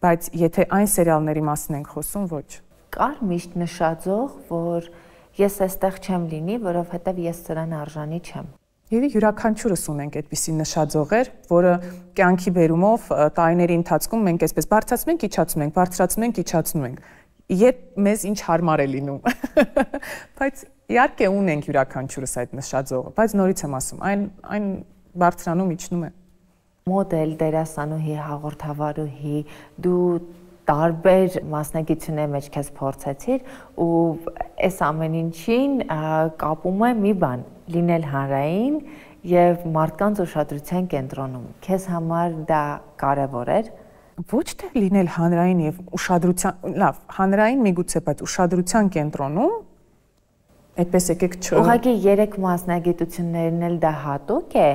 Բայց եթե այն սերիալների մասին ենք խոսում, ոչ։ Կար միշտ նշաձող, որ ես այստեղ չեմ լինի, որովհետև ես սրան արժանի չեմ։ Եվ յուրաքանչյուրս ունենք այդպիսի նշաձողեր, որը կյանքի բերումով տարիների ընթացքում մենք այսպես բարձրացնում ենք, իջացնում ենք, բարձրացնում ենք, իջացնում ենք։ Երբ մեզ ինչ հարմար է լինում։ Բայց իհարկե ունենք յուրաքանչյուրս այդ նշաձողը, բայց նորից եմ ասում, այն բարձրանում իջնում է։ Մոդել, դերասանուհի, հաղորդավարուհի, դու տարբեր մասնագիտությունների մեջ քեզ փորձեցիր ու այս ամեն ինչին կապում է մի բան՝ լինել հանրային եւ մարդկանց ուշադրության կենտրոնում։ Քեզ համար դա կարեւոր էր։ Ոչ թե լինել հանրային եւ ուշադրության, լավ, հանրային միգուցե, բայց ուշադրության կենտրոնում այդպես եկեք չ։ Ուղղակի 3 մասնագիտություններն էլ դա հատուկ է։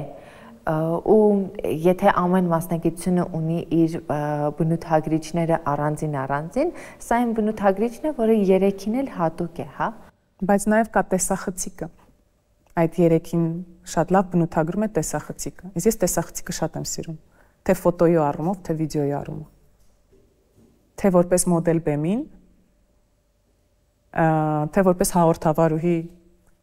Ու եթե ամեն մասնագիտությունը ունի իր բնութագրիչները առանձին, սա այն բնութագրիչն է, որը 3-ին էլ հատուկ է, հա։ Բայց նաև կա տեսախցիկը։ Այդ 3-ին շատ լավ բնութագրում է տեսախցիկը։ Ես տեսախցիկը շատ եմ սիրում, թե ֆոտոյի առումով, թե վիդեոյի առումով։ Թե որպես մոդել բեմին, թե որպես հաղորդավարուհի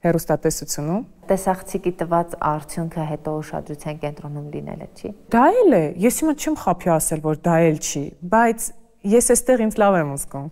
հեռուստատեսությունում։ Տեսախցիկի տված արդյունքը հետո ուշադրության կենտրոնում լինելը չի։ Դա էլ է, ես հիմա չեմ խափի ասել, որ դա էլ չի, բայց ես այստեղ ինձ լավ եմ զգում։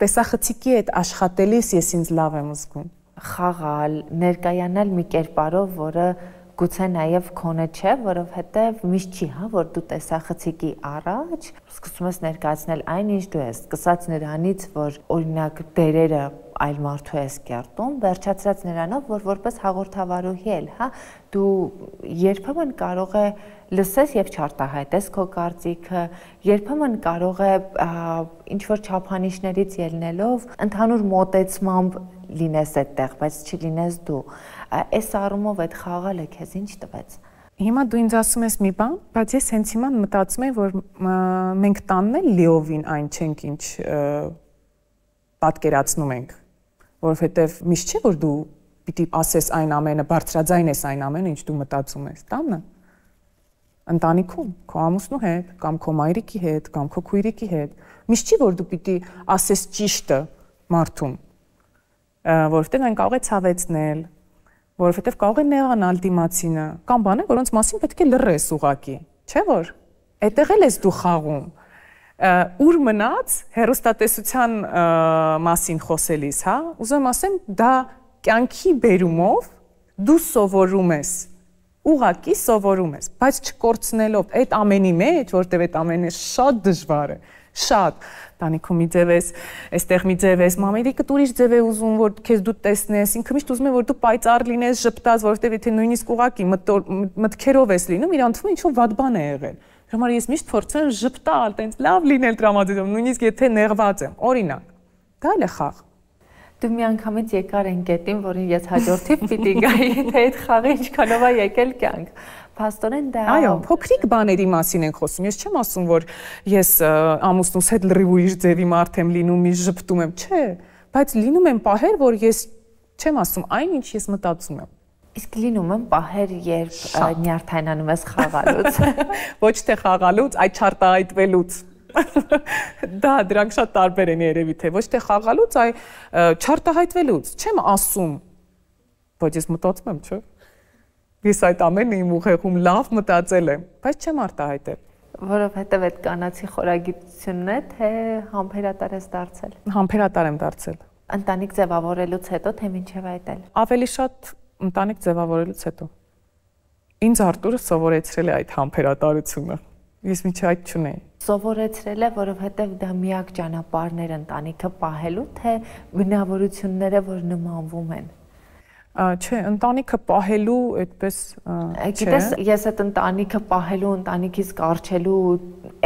Տեսախցիկի հետ աշխատելիս ես ինձ լավ եմ զգում։ Խաղալ, ներկայանալ մի կերպարով, որը գուցե նաև քոնը չէ, որովհետև միշտ չի, հա, որ դու տեսախցիկի առաջ սկսում ես ներկայացնել այն, ինչ դու ես, սկսած նրանից, որ օրինակ դերերը այլ մարդու ես կերտում, վերջացրած նրանով, որ որպես հաղորդավարուհի էլ, հա, դու երբեմն կարող է լսես եւ չարտահայտես քո կարծիքը, երբեմն կարող է ինչ որ չափանիշներից ելնելով ընդհանուր մոտեցմամբ լինես այդտեղ, բայց չլինես դու։ Այս առումով այդ խաղալը քեզ ինչ տվեց։ Հիմա դու ինձ ասում ես մի բան, բայց ես հենց հիմա մտածում եմ, որ մենք տանն էլ լիովին այն չենք, ինչ պատկերացնում ենք, որովհետև միշտ չէ, որ դու պիտի ասես այն ամենը, բարձրաձայն ես այն ամենը, ինչ դու մտածում ես, տանը։ Ընտանիքում, քո ամուսնու հետ, կամ քո մայրիկի հետ, կամ քո քույրիկի հետ։ Միշտ չի, որ դու պիտի ասես ճիշտը մարդուն, որովհետև այն կարող է ցավեցնել, որովհետև կարող է նեղանալ դիմացինը, կամ բաներ, որոնց մասին պետք է լռես ուղակի, չէ՞ որ։ Այդտեղ էլ ես դու խաղում։ Ուր մնաց հեռուստատեսության մասին խոսելիս, հա, ուզում եմ ասեմ, դա կյանքի բերումով դու սովորում ես, ուղակի սովորում ես, բայց չկորցնելով այդ ամենի մեջ, որտեղ այդ ամենը շատ դժվար է, շատ տանիքում մի ձև ես, այստեղ մի ձև ես, մամերիկը ուրիշ ձև է ուզում, որ քեզ դու տեսնես, ինքը միշտ ուզում է, որ դու պայծառ լինես, ժպտաս, որովհետև եթե նույնիսկ ուղակի մտքերով ես լինում, իրան թվում է ինչ-որ վատ բան է եղել։ Համար ես միշտ փորձում եմ ժպտալ, տենց լավ լինել տրամադրությամբ, նույնիսկ եթե նեղված եմ, օրինակ։ Դա էլ է խաղ։ Դու մի անգամից եկար են գետին, որին ես հաջորդիվ պիտի գայի, թե այդ խաղը ինչքանով է եկել կյանք։ Փաստորեն դա Այո, փոքրիկ բաների մասին ենք խոսում։ Ես չեմ ասում, որ ես ամուսնուս հետ լրիվ ուրիշ ձևի մարդ եմ լինում, մի ժպտում եմ, չէ, բայց լինում են պահեր, որ ես չեմ ասում այն, ինչ ես մտածում եմ։ Իսկ լինում են պահեր, երբ նյարդայնանում ես խաղալուց։ Ոչ թե խաղալուց, այլ չարտահայտվելուց։ Դա դրանք շատ տարբեր են երևի թե ոչ թե խաղալուց, այլ չարտահայտվելուց։ Չեմ ասում, բայց ես մտածում եմ, չէ՞։ Ես այդ ամենը իմ ուղեղում լավ մտածել եմ, բայց չեմ արտահայտել։ Որովհետև այդ կանացի խորագիտությունն է, թե համբերատար ես դարձել։ Համբերատար եմ դարձել։ Ընտանիք ձևավորելուց հետո, թե մինչև այդ էլ։ Ավելի շատ ընտանիք ձևավորելուց հետո։ Ինձ Արտուրը սովորեցրել է այդ համբերատարությունը։ Ես միջի այդ չունեի։ Սովորեցրել է, որովհետև դա միակ ճանապարհն էր ընտանիքը պահելու, թե բնավորությունները, որ նմանվում են։ Չէ, ընտանիքը պահելու այդպես Գիտես, ես այդ ընտանիքը պահելու, ընտանիքից կարճելու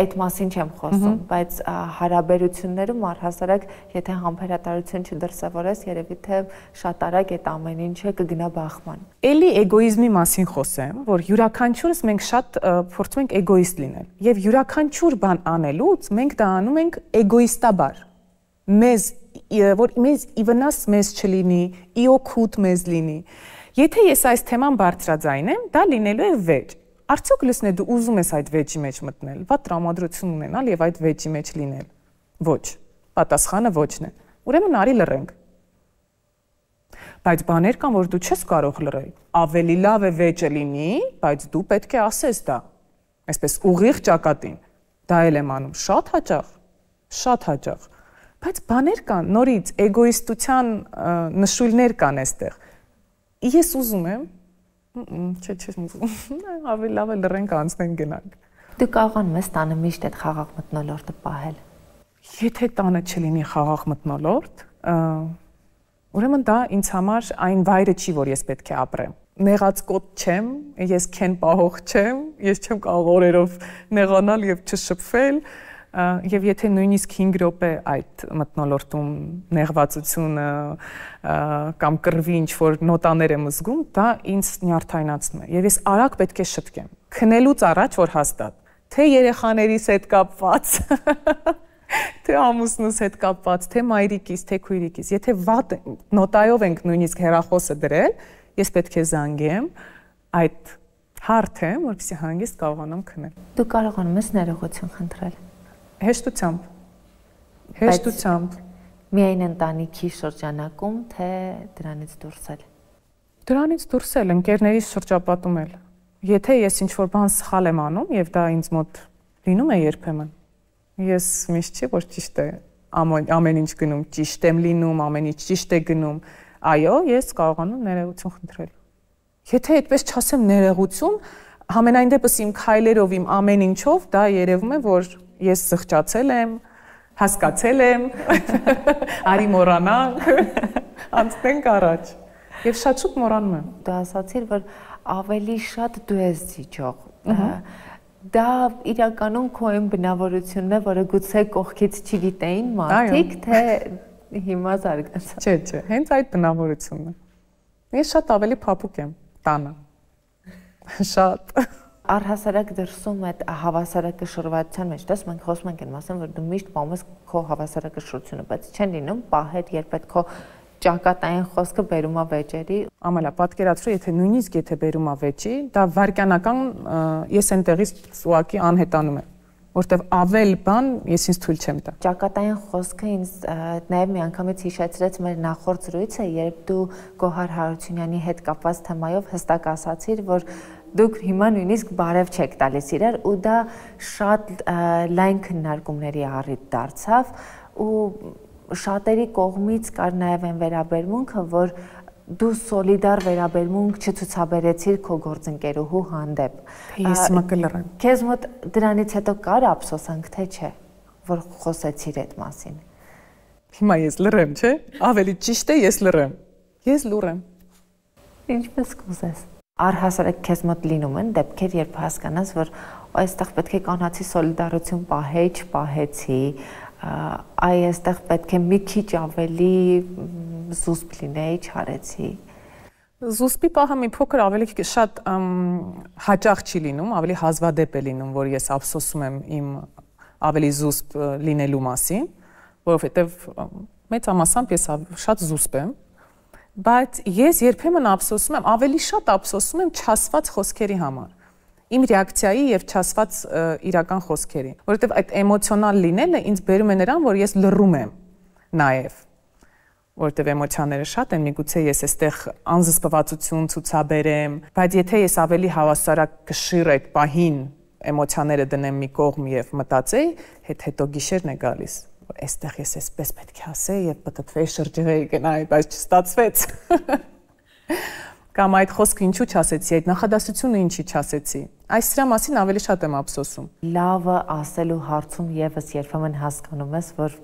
այդ մասին չեմ խոսում, բայց հարաբերություններում առհասարակ, եթե համբերատարություն չդրսևորես, երևի թե շատ արագ այդ ամեն ինչը կգնա բախման։ Էլի էգոիզմի մասին խոսեմ, որ յուրաքանչյուրս մենք շատ փորձում ենք էգոիստ լինել, եւ յուրաքանչյուր բան անելուց մենք դա անում ենք էգոիստաբար։ Որ մեզ իվնաս մեզ չլինի, իօքուտ մեզ լինի։ Եթե ես այս թեման բարձրաձայնեմ, դա լինելու է վեճ։ Արդյոք լսնե դու ուզում ես այդ վեճի մեջ մտնել, վատ տրամադրություն ունենալ եւ այդ վեճի մեջ լինել։ Ոչ, պատասխանը ոչն է։ Ուրեմն արի լռենք։ Բայց բաներ կան, որ դու չես կարող լռել։ Ավելի լավ է վեճը լինի, բայց դու պետք է ասես դա։ Այսպես ուղիղ ճակատին։ Դա էլ եմ անում շատ հաճախ։ Բայց բաներ կան, նորից էգոիստության նշույլներ կան այստեղ։ Ես ուզում եմ, չեմ ուզում, ավելի լավ է լռենք անցնենք գնանք։ Դու կարողանում ես տանը միշտ այդ խաղաղ մթնոլորտը պահել։ Եթե տանը չլինի խաղաղ մթնոլորտ, ուրեմն դա ինձ համար այն վայրը չի, որ ես պետք է ապրեմ։ Նեղած կոտ չեմ, ես քեն պահող չեմ, ես չեմ կարող օրերով նեղանալ եւ չշփվել։ Եվ եթե նույնիսկ 5 րոպե այդ մթնոլորտում նեղվածությունը կամ կռվի ինչ-որ նոտաներ եմ զգում, դա ինձ նյարդայնացնում է։ Եվ ես արագ պետք է շտկեմ։ Քնելուց առաջ որ հաստատ, թե երեխաներիս հետ կապված, թե ամուսնուս հետ կապված, թե մայրիկիս, թե քույրիկիս, եթե վատ նոտայով ենք նույնիսկ հեռախոսը դրել, ես պետք է զանգեմ այդ հարթը, որպեսզի հանգիստ կարողանամ քնել։ Դու կարողանում ես ներողություն խնդրել։ Հեշտությամբ։ Միայն ընտանիքի շրջանակում, թե դրանից դուրս էլ։ Դրանից դուրս էլ, ընկերներիս շրջապատում էլ։ Եթե ես ինչ-որ բան սխալ եմ անում, եւ դա ինձ մոտ լինում է երբեմն, ես միշտ չի, որ ճիշտ է, ամեն ինչ գնում ճիշտ եմ լինում, ամեն ինչ ճիշտ է գնում, այո, ես կարողանում ներողություն խնդրել։ Եթե այդպես չասեմ ներողություն, համենայն դեպս իմ քայլերով, իմ ամեն ինչով դա երևում է, որ ես զղջացել եմ, հասկացել եմ, արի մոռանանք, անցնենք առաջ։ Եվ շատ շուտ մոռանում եմ։ Դու ասացիր, որ ավելի շատ դու ես զիջող։ Դա իրականում քո այն բնավորությունն է, որը գուցե կողքից չգիտեին մարդիկ, թե հիմա զարգացա։ Չէ, հենց այդ բնավորությունն է։ Ես շատ ավելի փափուկ եմ տանը։ Շատ։ Առհասարակ դրսում այդ հավասարակշռվածության մեջ, դες մենք խոսում ենք այն մասին, որ դու միշտ պահում ես քո հավասարակշռությունը, բայց չեն լինում պահեր, երբ այդ քո ճակատային խոսքը բերում է վեճերի։ Ամալա, պատկերացրու, եթե նույնիսկ վերում է վեճի, դա վարքյանական ես այնտեղից ուղղակի անհետանում եմ, որտեվ ավել բան ես ինձ թույլ չեմ տա։ Ճակատային խոսքը ինձ նաև մի անգամից հիշեցրեց մեր նախորդ զրույցը, երբ դու Գոհար Հարությունյանի հետ կապված թեմայով հստակ ասացիր, որ դուք հիմա նույնիսկ բարև չեք տալիս իրար ու դա շատ լայն քննարկումների առիթ դարձավ ու շատերի կողմից կար նաև այն վերաբերմունքը, որ դու սոլիդար վերաբերմունք չցուցաբերեցիր քո գործընկերուհու հանդեպ։ Ես հիմա կլռեմ։ Քեզ մոտ դրանից հետո կար ափսոսանք, թե չէ, որ խոսեցիր այդ մասին։ Հիմա ես լռեմ, չէ՞։ Ավելի ճիշտ է ես լռեմ։ Ես լուռ եմ։ Ինչպես կուզես։ Առհասարակ քեզ մոտ լինում են դեպքեր, երբ հասկանաս, որ այստեղ պետք է կանացի սոլիդարություն պահեի, չպահեցի, այստեղ պետք է մի քիչ ավելի զուսպ լինեի, չարեցի։ Զուսպի պահը մի փոքր ավելի շատ հաճախ չի լինում, ավելի հազվադեպ է լինում, որ ես ափսոսում եմ իմ ավելի զուսպ լինելու մասին, որովհետև մեծամասամբ ես շատ զուսպ եմ, բայց ես երբեմն ափսոսում եմ, ավելի շատ ափսոսում եմ չասված խոսքերի համար։ Իմ ռեակցիայի եւ չասված իրական խոսքերի, որովհետեւ այդ էմոցիոնալ լինելը ինձ բերում է նրան, որ ես լռում եմ նաեւ, որովհետեւ էմոցիաները շատ են, միգուցե ես այստեղ անզսպվածություն ցուցաբերեմ, բայց եթե ես ավելի հավասարակշիռ այդ պահին էմոցիաները դնեմ մի կողմ եւ մտածեի, հետո գիշերն է գալիս, որ այստեղ ես էսպես պետք է ասեի եւ պտտվեի շրջեղեի գնայի, բայց չստացվեց։ Կամ այդ խոսքը ինչու չասեցի, այդ նախադասությունը ինչի չասեցի։ Այս սրա մասին ավելի շատ եմ ափսոսում։ Լավը ասելու հարցում եւս երբեմն հասկանում ես, որ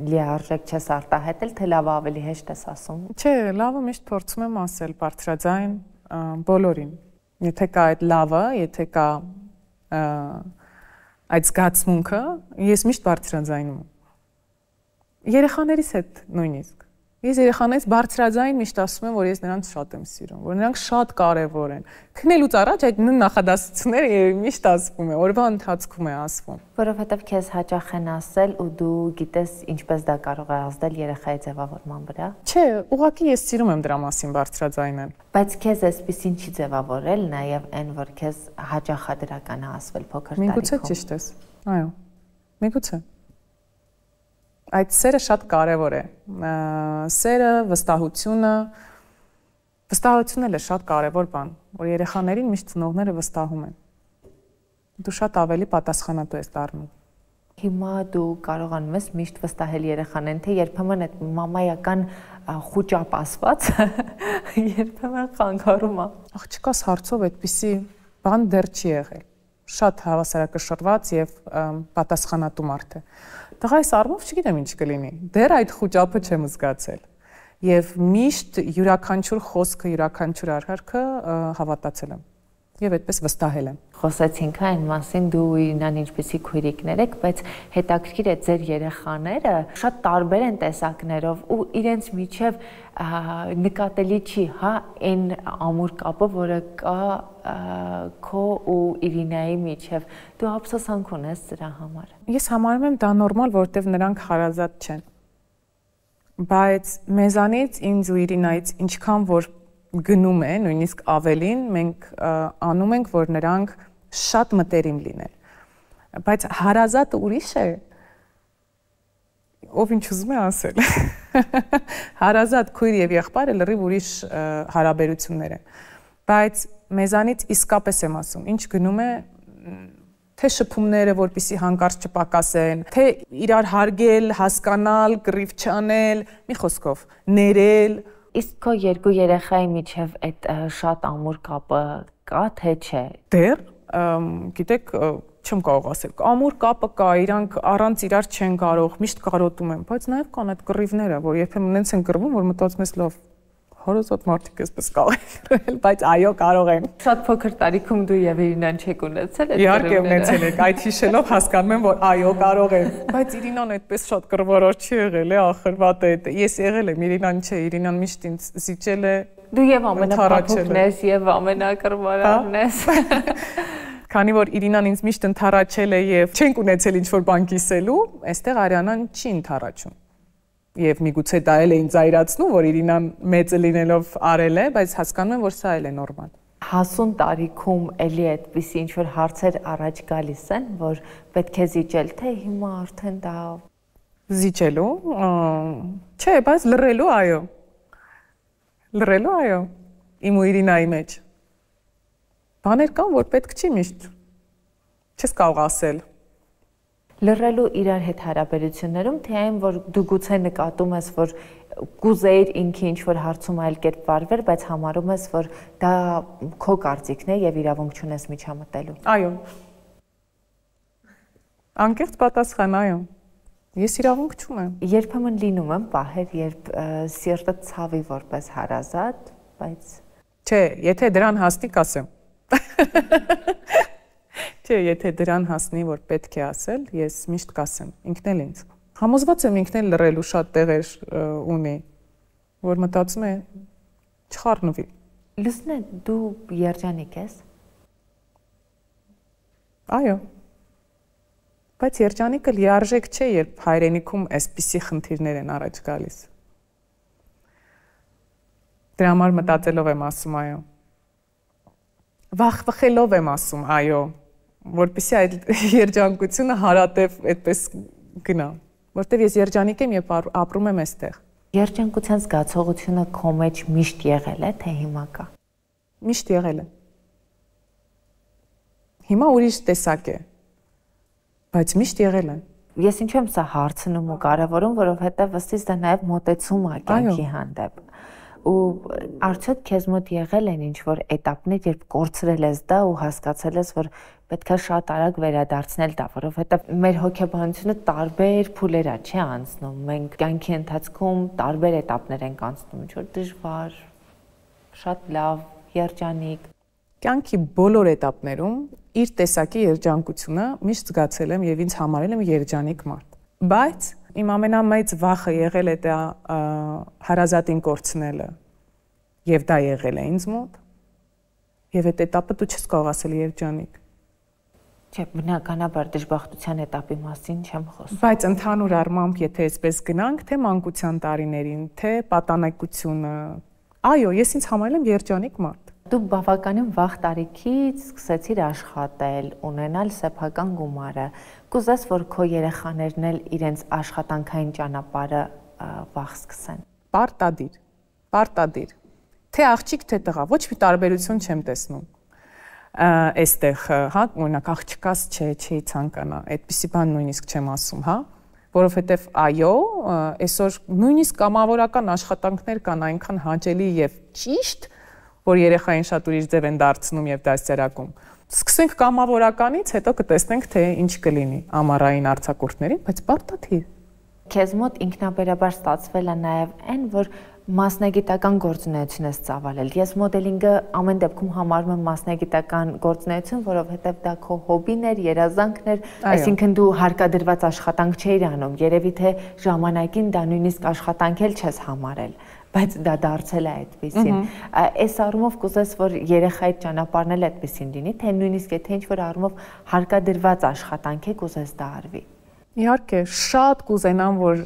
լիարժեք չես արտահայտել, թե լավը ավելի հեշտ ես ասում։ Չէ, լավը միշտ փորձում եմ ասել բարձրաձայն բոլորին։ Եթե կա այդ լավը, եթե կա այդ զգացմունքը, ես միշտ բարձրաձայնում եմ։ Երեխաներիս հետ նույնիսկ։ Ես երեխաներից բարձրաձայն միշտ ասում եմ, որ ես նրանց շատ եմ սիրում, որ նրանք շատ կարևոր են։ Քնելուց առաջ այդ նույն նախադասությունները միշտ ասվում է, օրվա ընթացքում է ասվում։ Որովհետև քեզ հաճախ են ասել ու դու գիտես ինչպես դա կարող է ազդել երեխայի ձևավորման վրա։ Չէ, ուղղակի ես սիրում եմ դրա մասին բարձրաձայնել։ Բայց քեզ էսպիսին չի ձևավորել, նաև այն, որ քեզ հաճախ է դրական ասվել փոքր տարիքում։ Միգուցե ճիշտ ես։ Այո։ Միգուցե։ Այդ սերը շատ կարևոր է։ Սերը, վստահությունը էլ է շատ կարևոր բան, որ երեխաներին միշտ ծնողները վստահում են։ Դու շատ ավելի պատասխանատու ես դառնում։ Հիմա դու կարողանում ես միշտ վստահել երեխաներին, թե երբեմն այդ մամայական խուճապ ասված երբեմն խանգարում է։ Աղջկաս հարցով այդպիսի բան դեռ չի եղել։ Շատ հավասարակշռված եւ պատասխանատու մարդ է։ Տղայիս առումով չգիտեմ ինչ կլինի։ Դեռ այդ խուճապը չեմ զգացել։ Եվ միշտ յուրաքանչյուր խոսքը, յուրաքանչյուր արարքը հավատացել եմ։ Եվ այդպես վստահել եմ։ Խոսեցինք այն մասին, դու իրան ինչպեսի քույրիկներ եք, բայց հետաքրքիր է ձեր երեխաները շատ տարբեր են տեսակներով ու իրենց միջև նկատելի չի, հա, այն ամուր կապը, որը կա քո ու Իրինայի միջև։ Դու ափսոսանք ունես դրա համար։ Ես համարում եմ դա նորմալ, որովհետև նրանք հարազատ չեն։ Բայց մեզանից, ինձ ու Իրինայից ինչքան որ գնում է, նույնիսկ ավելին, մենք անում ենք, որ նրանք շատ մտերիմ լինեն։ Բայց հարազատը ուրիշ է, ով ինչ ուզում է ասել։ Հարազատ քույր եւ եղբայրը լրիվ ուրիշ հարաբերություններ են։ Բայց մեզանից իսկապես եմ ասում, ինչ գնում է, թե շփումները, որպեսզի հանկարծ չպակասեն, թե իրար հարգել, հասկանալ, կռիվ չանել, մի խոսքով, ներել։ Իսկ քո երկու երեխայի միջև այդ շատ ամուր կապը կա, թե չէ։ Դեռ, գիտեք, չեմ կարող ասել, ամուր կապը կա, իրանք առանց իրար չեն կարող, միշտ կարոտում են, բայց նաև կան այդ կռիվները, որ երբեմն նենց են կռվում, որ մտածում ես լավ, հարազատ մարդիկ էսպես կարող են, բայց այո, կարող են։ Շատ փոքր տարիքում դու եւ Իրինան չեք ունեցել այդ իհարկե ունեցել եք, այդ հիշելով հասկանում եմ, որ այո, կարող են, բայց Իրինան այդպես շատ կռվարար չի եղել, ախր վատ է, ես եղել եմ, Իրինան չէ, Իրինան միշտ ինձ զիջել է։ Դու եւ ամենափոքրն ես եւ ամենակռվարարն ես։ Քանի որ Իրինան ինձ միշտ ընդառաջել է եւ չենք ունեցել ինչ-որ բան կիսելու, այստեղ Արիանան չի ընդառաջում։ Եվ միգուցե դա էլ է ինձ այրացնում, որ Իրինան մեծը լինելով արել է, բայց հասկանում եմ, որ սա էլ է նորմալ։ Հասուն տարիքում էլի այդպիսի ինչ-որ հարցեր առաջ գալիս են, որ պետք է զիջել, թե հիմա արդեն դա զիջելու, չէ, բայց լռելու, այո։ Լռելու, այո, իմ ու Իրինայի մեջ։ Բաներ կան, որ պետք չի միշտ։ Չես կարող ասել։ Լռելու իրար հետ հարաբերություններում, թե այն, որ դու գուցե նկատում ես, որ կուզեիր ինքը ինչ-որ հարցում այլ կերպ վարվել, բայց համարում ես, որ դա քո կարծիքն է եւ իրավունք չունես միջամտելու։ Այո։ Անկեղծ պատասխան, այո։ Ես իրավունք չունեմ։ Երբեմն լինում եմ պահեր, երբ սիրտը ցավի որպես հարազատ, բայց չէ, եթե դրան հասնի, կասեմ։ Չէ, եթե դրան հասնի, որ պետք է ասել, ես միշտ կասեմ, ինքն էլ ինձ։ Համոզված եմ ինքն էլ լռելու շատ տեղեր ունի։ որ մտածում է չխառնվի։ Լուսնե, դու երջանիկ ես։ Այո։ Բայց երջանիկը լիարժեք չէ, երբ հայրենիքում այսպիսի խնդիրներ են առաջ գալիս։ Դրա համար մտածելով եմ ասում այո։ Վախվխելով եմ ասում այո, որպեսզի այդ երջանկությունը հարատև այդպես գնա, որտեղ ես երջանիկ եմ եւ ապրում եմ այստեղ։ Երջանկության զգացողությունը քո մեջ միշտ եղել է, թե հիմա կա։ Միշտ եղել է։ Հիմա ուրիշ տեսակ է, բայց միշտ եղել է։ Ես ինչու եմ սա հարցնում ու կարևորում, որովհետև ըստիս դա նաև մոտեցում է կյանքի հանդեպ։ Ու արդյոք քեզ մոտ եղել են ինչ-որ էտապներ, երբ կորցրել ես դա ու հասկացել ես, որ պետք է շատ արագ վերադարձնել դա, որովհետև մեր հոգեբանությունը տարբեր փուլեր է, չէ՞ անցնում։ Մենք կյանքի ընթացքում տարբեր էտապներ ենք անցնում, ինչ-որ դժվար, շատ լավ, երջանիկ։ Կյանքի բոլոր էտապներում իր տեսակի երջանկությունը միշտ զգացել եմ եւ ինձ համարել եմ երջանիկ մարդ։ Բայց իմ ամենամեծ վախը եղել է դա հարազատին կորցնելը եւ դա եղել է ինձ մոտ եւ այդ էտապը դու չես կարող ասել երջանիկ։ Չէ, բնականաբար դժբախտության էտապի մասին չեմ խոսում։ Բայց ընդհանուր առմամբ, եթե այսպես գնանք, թե մանկության տարիներին, թե պատանեկությունը, այո, ես ինձ համարել եմ երջանիկ մարդ։ Դու բավականին վաղ տարիքից սկսեցիր աշխատել, ունենալ սեփական գումարը։ Կուզես, որ քո երեխաներն էլ իրենց աշխատանքային ճանապարհը վաղ սկսեն։ Պարտադիր։ Թե աղջիկ, թե տղա, ոչ մի տարբերություն չեմ տեսնում։ Այստեղ, հա, օրինակ աղջկաս չի ցանկանա, այդպիսի բան նույնիսկ չեմ ասում, հա, որովհետև այո, այսօր նույնիսկ կամավորական աշխատանքներ կան այնքան հաճելի եւ ճիշտ, որ երեխային շատ ուրիշ ձև են դարձնում եւ դասերակում։ Սկսենք կամավորականից, հետո կտեսնենք թե ինչ կլինի ամառային արձակուրդներին, բայց պարտադիր։ Քեզ մոտ ինքնաբերաբար ստացվել է նաեւ այն, որ մասնագիտական գործունեություն ես ծավալել։ Ես մոդելինգը ամեն դեպքում համարում եմ մասնագիտական գործունեություն, որովհետև դա քո հոբին էր, երազանքն էր, այսինքն դու հարկադրված աշխատանք չէիր անում։ Երևի թե ժամանակին դա նույնիսկ աշխատանք էլ չես համարել, բայց դա դարձել է այդպեսին։ Այս առումով կուզես, որ երեխայի ճանապարհն էլ այդպեսին լինի, թե նույնիսկ եթե ինչ-որ առումով հարկադրված աշխատանք է, կուզես դա արվի։ Իհարկե, շատ կուզենամ, որ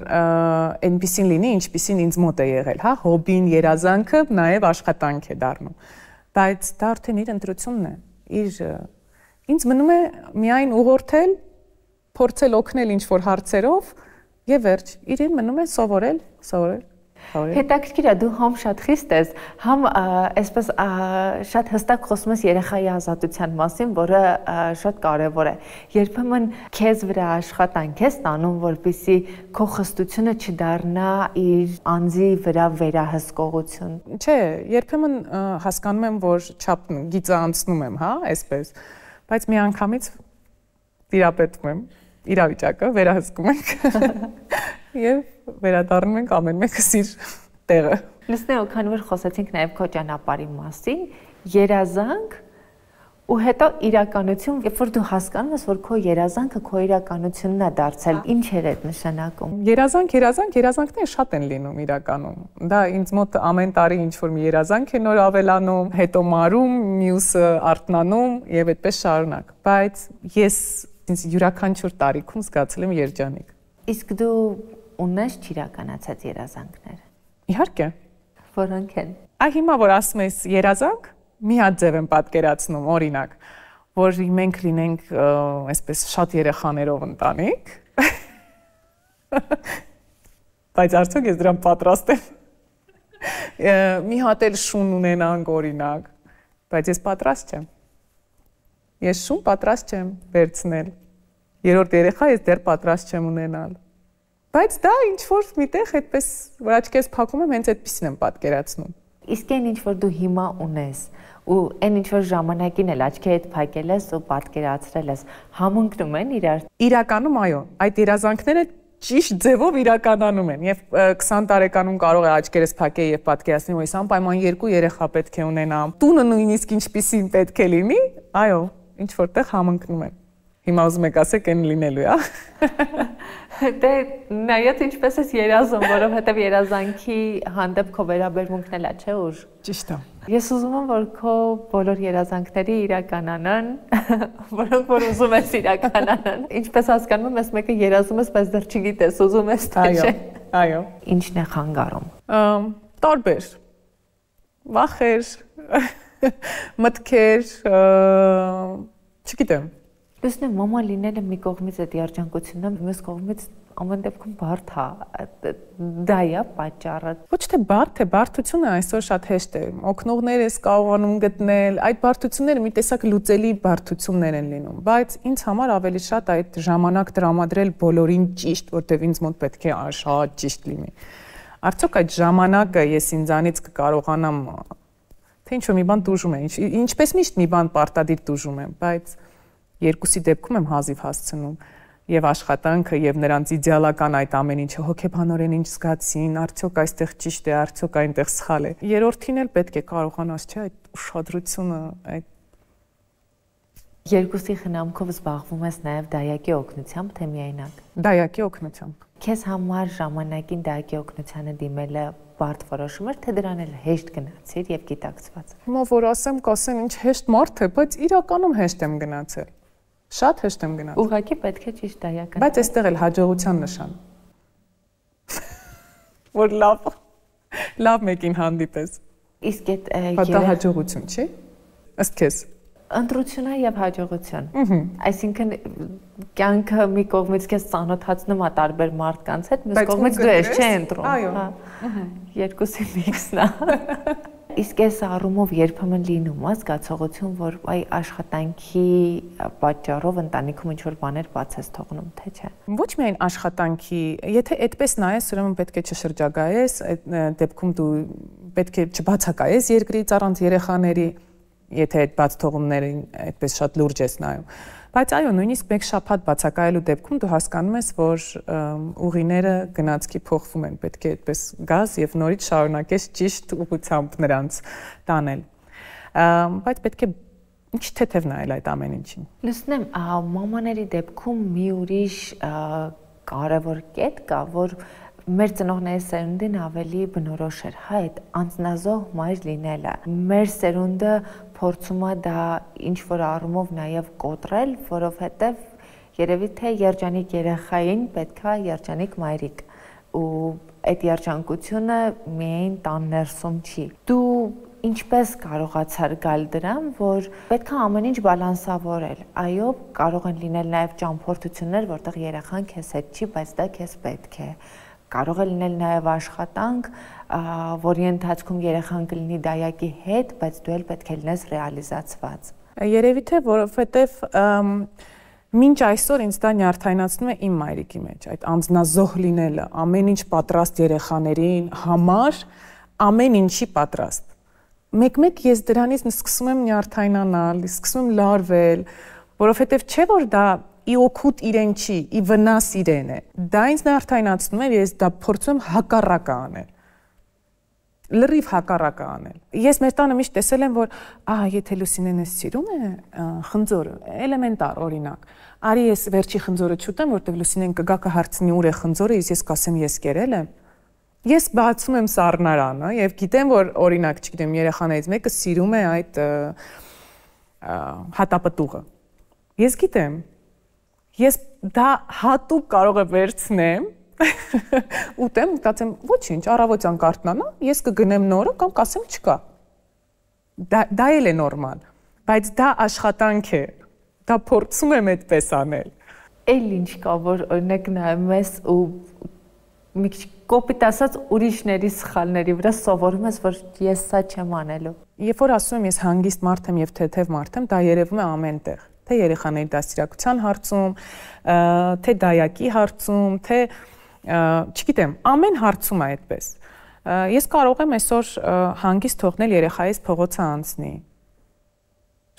այնպեսին լինի, ինչպեսին ինձ մոտ է եղել, հա, հոբին, երազանքը նաև աշխատանք է դառնում։ Բայց դա արդեն իր ընտրությունն է։ Ինձ մնում է միայն ուղղորդել, փորձել օգնել ինչ-որ հարցերով եւ վերջ։ Իրեն մնում է սովորել։ Հետաքրքիր է, դու համ շատ խիստ ես, համ այսպես շատ հստակ խոսում ես երեխայի ազատության մասին, որը շատ կարևոր է։ Երբեմն քեզ վրա աշխատանք ես տանում, որպեսզի քո խստությունը չդառնա իր անձի վրա վերահսկողություն։ Չէ, երբեմն հասկանում եմ, որ չափ գիծը անցնում եմ, հա, այսպես, բայց միանգամից տիրապետում եմ իրավիճակը, վերահսկում ենք եւ վերադառնում ենք ամեն մեկս իր տեղը։ Լսնե, քանի որ խոսեցինք նաեւ քո ճանապարհի մասին, երազանք ու հետո իրականություն, երբ որ դու հասկանում ես, որ քո երազանքը քո իրականությունն է դարձել, ինչ էր այդ նշանակում։ Երազանքները շատ են լինում իրականում։ Դա ինձ մոտ ամեն տարի ինչ որ մի երազանք է նոր ավելանում, հետո մարում, մյուսը արթնանում եւ այդպես շարունակ։ Բայց ես ինձ յուրաքանչյուր տարիքում զգացել եմ երջանիկ։ Իսկ դու ունես չիրականացած երազանքներ։ Իհարկե։ Որոնք են։ Հիմա որ ասում ես երազանք, մի հատ ձև եմ պատկերացնում, օրինակ, որ մենք լինենք այսպես շատ երեխաներով ընտանիք։ Բայց արդյոք ես դրան պատրաստ եմ։ Մի հատ էլ շուն ունենանք, օրինակ, բայց ես պատրաստ չեմ։ Ես շուն պատրաստ չեմ վերցնել։ Երրորդ երեխա ես դեռ պատրաստ չեմ ունենալ։ Բայց դա ինչ որ միտեղ այդպես որ աչքես փակում եմ, հենց այդպեսին եմ պատկերացնում։ Իսկ այն ինչ որ դու հիմա ունես ու այն ինչ որ ժամանակին էլ աչքերդ փակել ես ու պատկերացրել ես, համընկնում են իրար։ Իրականում այո, այդ երազանքները ճիշտ ձևով իրականանում են եւ 20 տարեկանում կարող է աչքերս փակել եւ պատկերացնել, որ ես անպայման 2 երեխա պետք է ունենամ։ Տունը նույնիսկ ինչպեսին պետք է լինի, այո, ինչ որտեղ համընկնում են։ Հիմա ուզում եք ասեք այն լինելու է, Դե նայած ինչպես ես երազում, որովհետև երազանքի հանդեպ քո վերաբերմունքն էլ է, չէ՞ ուր։ Ճիշտ է։ Ես ուզում եմ, որ քո բոլոր երազանքները իրականանան, որոնք որ ուզում ես իրականանան։ Ինչպես հասկանում եմ, ես մեկը երազում ես, բայց դեռ չգիտես, ուզում ես թե չէ։ Այո։ Ինչն է խանգարում։ Տարբեր վախեր, մտքեր, չգիտեմ։ Լուսնե մամա լինելը մի կողմից այդ երջանկությունն է, մյուս կողմից ամեն դեպքում բարդ է։ Դա է պատճառը։ Ոչ թե բարդ է, բարդությունը այսօր շատ հեշտ է։ Օգնողներ ես կարողանում գտնել, այդ բարդությունները մի տեսակ լուծելի բարդություններ են լինում, բայց ինձ համար ավելի շատ այդ ժամանակ տրամադրել բոլորին ճիշտ, որտեղ ինձ մոտ պետք է շատ ճիշտ լինի։ Արդյոք այդ ժամանակը ես ինձանից կկարողանամ թե ինչ-որ մի բան տուժում է, ինչպես միշտ մի բան պարտադիր տուժում եմ, բայց երկուսի դեպքում եմ հազիվ հասցնում եւ աշխատանքը եւ նրանց իդեալական այդ ամեն ինչը հոգեբանորեն ինչ զգացին, արդյոք այստեղ ճիշտ է, արդյոք այնտեղ սխալ է։ Երրորդին էլ պետք է կարողանաս, չէ, այդ ուշադրությունը, այդ երկուսի խնամքով զբաղվում ես նաեւ դայակի օգնությամբ, թե միայնակ։ Դայակի օգնությամբ։ Քեզ համար ժամանակին դայակի օգնությանը դիմելը բարդ որոշում էր, թե դրան էլ հեշտ գնացիր եւ գիտակցված։ Հիմա որ ասեմ, կասեմ ինչ հեշտ մարդ է, բայց իրականում հեշտ եմ գնացել։ Շատ հեշտ եմ գնացել։ Ուղղակի պետք է ճիշտ դայակ։ Բայց այստեղ էլ հաջողության նշան։ Որ լավ մեկին հանդիպես։ Իսկ այդ դա հաջողություն չի։ Ըստ քեզ։ Ընտրությունը եւ հաջողություն։ Այսինքն կյանքը մի կողմից քեզ ծանոթացնում է տարբեր մարդկանց հետ, մյուս կողմից դու ես չէ ընտրում։ Այո։ Երկուսի միքսն է։ Իսկ այս առումով երբեմն լինում է զգացողություն, որ այ աշխատանքի պատճառով ընտանիքում ինչ-որ բաներ բաց ես թողնում, թե չէ։ Ոչ միայն աշխատանքի, եթե այդպես նայես, ուրեմն պետք է չշրջագայես, այդ դեպքում դու պետք է չբացակայես երկրից առանց երեխաների, եթե այդ բաց թողումներին այդպես շատ լուրջ ես նայում։ Բայց այո, նույնիսկ մեկ շաբաթ բացակայելու դեպքում դու հասկանում ես, որ ուղիները գնացքի փոխվում են, պետք է այդպես գազ եւ նորից շարունակես ճիշտ ուղղությամբ նրանց տանել։ Բայց պետք է ինչ թեթև նայել այդ ամեն ինչին։ Լուսնեմ, մամաների դեպքում մի ուրիշ կարևոր կետ կա, որ մեր ծնողների սերունդին ավելի բնորոշ էր, հա, այդ անձնազոհ մայր լինելը։ Մեր սերունդը փորձում է դա ինչ-որ առումով նաև կոտրել, որովհետև երևի թե երջանիկ երեխային պետք է երջանիկ մայրիկ, ու այդ երջանկությունը միայն տան ներսում չի։ Դու ինչպես կարողացար գալ դրան, որ պետք է ամեն ինչ բալանսավորել։ Այո, կարող են լինել նաև ճամփորդություններ, որտեղ երեխան քեզ հետ չի, բայց դա քեզ պետք է։ Կարող է լինել նաև աշխատանք, որի ընթացքում երեխան կլինի դայակի հետ, բայց դու էլ պետք է լինես ռեալիզացված։ Երևի թե որովհետև մինչ այսօր ինձ դա նյարդայնացնում է իմ մայրիկի մեջ, այդ անձնազոհ լինելը, ամեն ինչ պատրաստ երեխաներին համար, ամեն ինչի պատրաստ։ Մեկ-մեկ ես դրանից սկսում եմ նյարդայնանալ, սկսում եմ լարվել, որովհետև չէ որ դա ի օգուտ իրեն չի, ի վնաս իրեն է։ Դա ինձ նյարդայնացնում է, ես դա փորձում եմ հակառակը անել։ Լրիվ հակառակը անել։ Ես մեր տանը միշտ տեսել եմ, որ եթե Լուսինեն էս սիրում է խնձորը, էլեմենտար օրինակ։ Արի ես վերջի խնձորը չուտեմ, որտեղ Լուսինեն կգա կհարցնի ուր է խնձորը, ես կասեմ ես կերել եմ։ Ես բացում եմ սառնարանը եւ գիտեմ, որ օրինակ, չգիտեմ, երեխաներից մեկը սիրում է այդ հատապտուղը։ Ես գիտեմ։ Ես դա հատուկ կարող եմ վերցնեմ, ուտեմ, մտածեմ, ոչինչ, առավոտյան կարթնանա, ես կգնեմ նորը կամ կասեմ չկա։ Դա էլ է նորմալ, բայց դա աշխատանք է, դա փորձում եմ այդպես անել։ Էլ ինչ կա, որ օրինակ նայում ես ու մի քիչ կոպիտ ասած ուրիշների սխալների վրա սովորում ես, որ ես սա չեմ անելու։ Երբ որ ասում եմ ես հանգիստ մարդ եմ եւ թեթև մարդ եմ, դա երևում է ամենտեղ։ Թե երեխաների դաստիարակության հարցում, թե դայակի հարցում, թե չգիտեմ, ամեն հարցում է այդպես։ Ես կարող եմ այսօր հանգիստ թողնել երեխայիս փողոցը անցնի։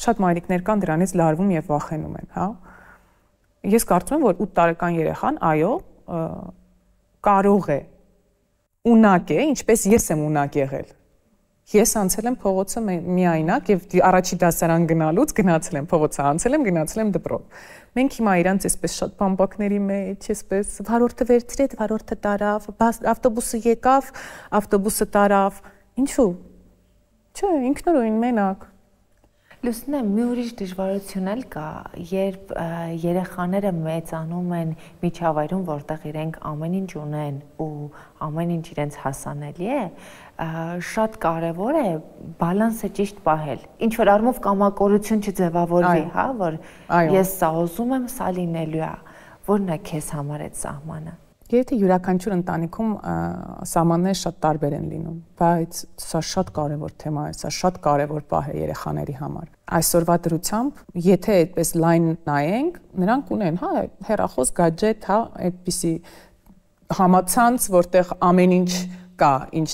Շատ մայրիկներ կան դրանից լարվում եւ վախենում են, հա։ Ես կարծում եմ, որ 8 տարեկան երեխան, այո, կարող է ունակ է, ինչպես ես եմ ունակ եղել։ Ես անցել եմ փողոցը միայնակ եւ առաջի դասարան գնալուց գնացել եմ փողոցը, անցել եմ, գնացել եմ դպրոց։ Մենք հիմա իրանց այսպես շատ բամբակների մեջ, այսպես վարորդը վերցրեց, վարորդը տարավ, ավտոբուսը եկավ, ավտոբուսը տարավ։ Ինչու՞։ Չէ, ինքնուրույն մենակ։ Լուսինե, մի ուրիշ դժվարություն էլ կա, երբ երեխաները մեծանում են միջավայրում, որտեղ իրենք ամեն ինչ ունեն ու ամեն ինչ իրենց հասանելի է, շատ կարևոր է բալանսը ճիշտ պահել։ Ինչ որ առումով կամակորություն չձևավորվի, հա, որ ես սա ուզում եմ, սա լինելու է, որն է քեզ համար այդ սահմանը։ Եթե յուրաքանչյուր ընտանիքում սահմանները շատ տարբեր են լինում, բայց սա շատ կարևոր թեմա է, սա շատ կարևոր պահ է երեխաների համար։ Այսօրվա դրությամբ, եթե այդպես լայն նայենք, նրանք ունեն, հա, հեռախոս, գadget, հա, այդպիսի համացանց, որտեղ ամեն ինչ կա, ինչ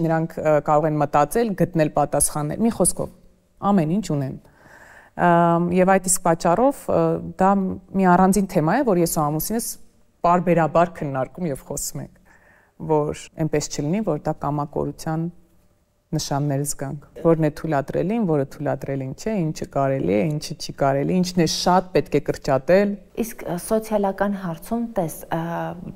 նրանք կարող են մտածել, գտնել պատասխաններ։ Մի խոսքով, ամեն ինչ ունեն։ Եվ այդ իսկ պատճառով դա մի առանձին թեմա է, որ ես ու ամուսինս բարբերաբար քննարկում եւ խոսում ենք, որ այնպես չլինի, որ դա կամակորության նշաններ զգանք, որն է թույլատրելին, որը թույլատրելին չէ, ինչը կարելի է, ինչը չի կարելի, ինչն է շատ պետք է կրճատել։ Իսկ սոցիալական հարցում տես,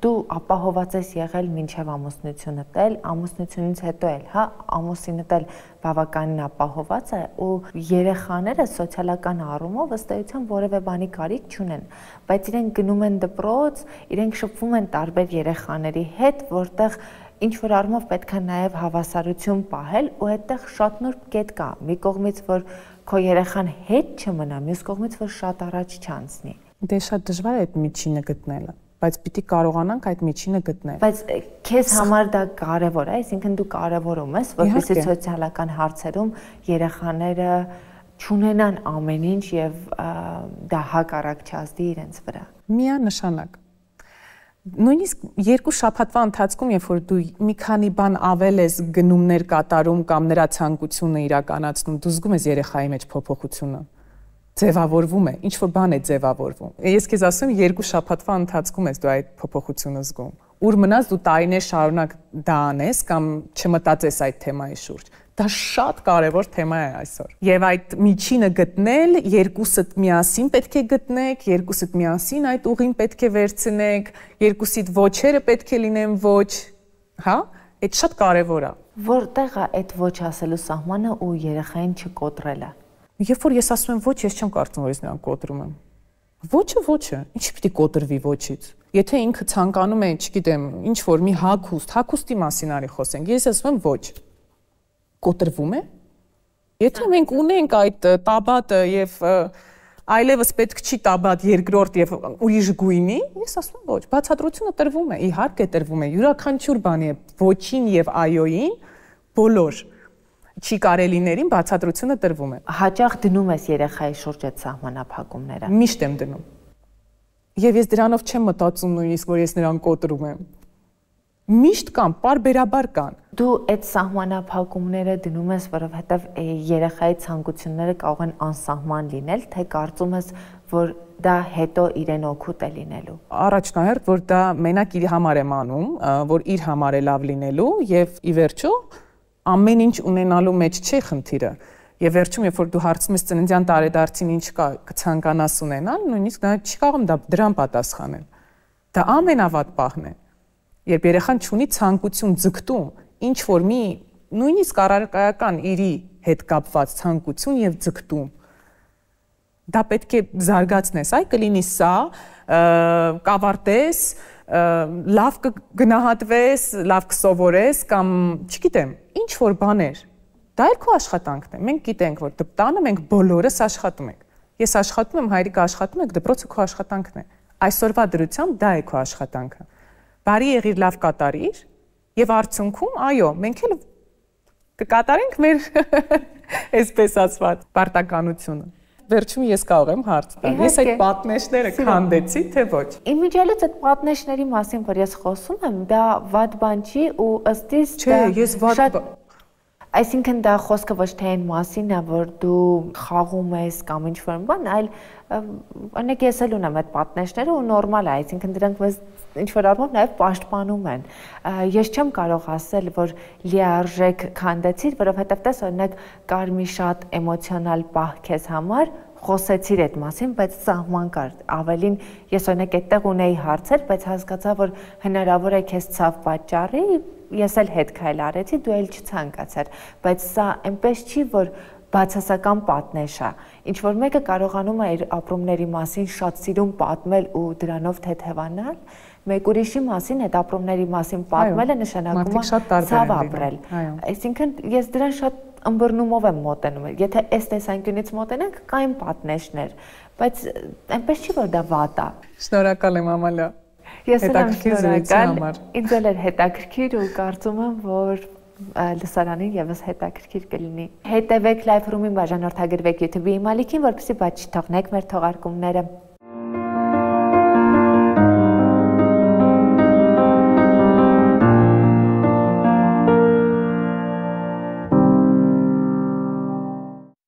դու ապահոված ես եղել մինչև ամուսնությունդ էլ, ամուսնությունից հետո էլ, հա, ամուսինդ էլ բավականին ապահոված է ու երեխաները սոցիալական առումով ըստ էության որևէ բանի կարիք չունեն, բայց իրենք գնում են դպրոց, իրենք շփվում են տարբեր երեխաների հետ, որտեղ ինչ որ առումով պետք է նաև հավասարություն պահել ու այդտեղ շատ նուրբ կետ կա։ Մի կողմից որ քո երեխան հետ չմնա, մյուս կողմից որ շատ առաջ չանցնի։ Դե շատ դժվար է այդ միջինը գտնելը, բայց պիտի կարողանանք այդ միջինը գտնել։ Բայց քեզ համար դա կարևոր է, այսինքն դու կարևորում ես, որպեսզի սոցիալական հարցերում երեխաները չունենան ամեն ինչ եւ դա հակառակ չազդի իրենց վրա։ Միանշանակ։ Նույնիսկ երկու շաբաթվա ընթացքում, երբ որ դու մի քանի բան ավել ես գնումներ կատարում կամ նրա ցանկությունը իրականացնում, դու զգում ես երեխայի մեջ փոփոխությունը։ Ձևավորվում է, ինչ որ բան է ձևավորվում։ Ես քեզ ասում, երկու շաբաթվա ընթացքում ես դու այդ փոփոխությունը զգում։ Ուր մնաց դու տարիներ շարունակ դա անես կամ չմտածես այդ թեմայի շուրջ։ Դա շատ կարևոր թեմա է այսօր։ Եվ այդ միջինը գտնել, երկուսդ միասին պետք է գտնեք, երկուսդ միասին այդ ուղին պետք է վերցնեք, երկուսիդ ոչերը պետք է լինեն ոչ, հա? Այդ շատ կարևոր է։ Որտեղ է այդ ոչ ասելու սահմանը ու երեխային չկոտրելը։ Երբ որ ես ասում եմ ոչ, ես չեմ կարծում, որ ես նրան կոտրում եմ։ Ոչը ոչը, ինչի պիտի կոտրվի ոչից։ Եթե ինքը ցանկանում է, չգիտեմ, ինչ որ մի հագուստի մասին արի խոսենք, ես ասում եմ ոչ։ Կոտրվում է։ Եթե մենք ունենք այդ տաբատը եւ այլևս պետք չի տաբատ երկրորդ եւ ուրիշ գույնի, ես ասում եմ ոչ, բացատրությունը տրվում է, իհարկե տրվում է, յուրաքանչյուր բանի է ոչին եւ այոյին բոլոր չի կարելիներին բացատրությունը տրվում է։ Հաճախ դնում ես երեխայի շուրջ այդ սահմանափակումները։ Միշտ եմ դնում։ Եվ ես դրանով չեմ մտածում նույնիսկ, որ ես նրան կոտրում եմ։ Միշտ կան, պարբերաբար կան։ Դու այդ սահմանափակումները դնում ես, որովհետև երեխայի ցանկությունները կարող են անսահման լինել, թե կարծում ես, որ դա հետո իրեն օգուտ է լինելու։ Առաջնահերթ, որ դա մենակ իր համար եմ անում, որ իր համար է լավ լինելու եւ ի վերջո ամեն ինչ ունենալու մեջ չի խնդիրը։ Եվ վերջում, երբ որ դու հարցնում ես ծննդյան տարեդարձին ինչ կցանկանաս ունենալ, նույնիսկ նա չի կարող դրան պատասխանել։ Դա ամենավատ պահն է։ Երբ երեխան ունի ցանկություն ձգտում, ինչ որ մի նույնիսկ առարկայական իրի հետ կապված ցանկություն եւ ձգտում, դա պետք է զարգացնես, այ կլինի սա, կավարտես, լավ կգնահատվես, լավ կսովորես կամ, չգիտեմ, ինչ որ բաներ։ Դա էլ քո աշխատանքն է։ Մենք գիտենք, որ տանը մենք բոլորս աշխատում ենք։ Ես աշխատում եմ, հայրիկը աշխատում է, դպրոցը քո աշխատանքն է։ Այսօրվա դրությամբ դա է քո աշխատանքը։ Բարի եղիր, լավ կատարիր եւ արդյունքում, այո, մենք էլ կկատարենք մեր այսպես ասված պարտականությունը։ Վերջում ես կարող եմ հարց տալ։ Ես այդ պատնեշները քանդեցի, թե ոչ։ Իմիջիալից այդ պատնեշների մասին, որ ես խոսում եմ, դա վատ բան չի ու ըստ իս Չէ, ես վատ Այսինքն դա խոսքը ոչ թե այն մասին է, որ դու խաղում ես կամ ինչ-որ բան, այլ օրինակ ես էլ ունեմ այդ պատնեշները ու նորմալ է, այսինքն դրանք մեզ ինչ որ առումով նաև պաշտպանում են։ Ես չեմ կարող ասել, որ լիարժեք քանդեցիր, որովհետև տես օրինակ կար մի շատ էմոցիոնալ պահ քեզ համար, խոսեցիր այդ մասին, բայց սահման կար։ Ավելին ես օրինակ այդտեղ ունեի հարցեր, բայց հասկացա, որ հնարավոր է քեզ ցավ պատճառի, ես էլ հետ քայլ արեցի, դու էլ չցանկացար, բայց սա այնպես չի, որ բացասական պատնեշ է։ Ինչ որ մեկը կարողանում է իր ապրումների մասին շատ սիրուն պատմել ու դրանով թեթևանալ, մեկ ուրիշի մասին այդ ապրումների մասին պատմելը նշանակում է ցավ ապրել։ Այսինքն ես դրան շատ ըմբռնումով եմ մոտենում։ Եթե այս տեսանկյունից մոտենանք, կային պատնեշներ, բայց այնպես չի, որ դա վատ է։ Շնորհակալ եմ Ամալիա։ Ես եմ շնորհակալ։ Ինձ էլ էր հետաքրքիր ու կարծում եմ, որ լսարանին եւս հետաքրքիր կլինի։ Հետևեք Live Room-ին, բաժանորդագրվեք YouTube-ի իմալիքին, որպեսզի բաց չթողնեք մեր թողարկումները։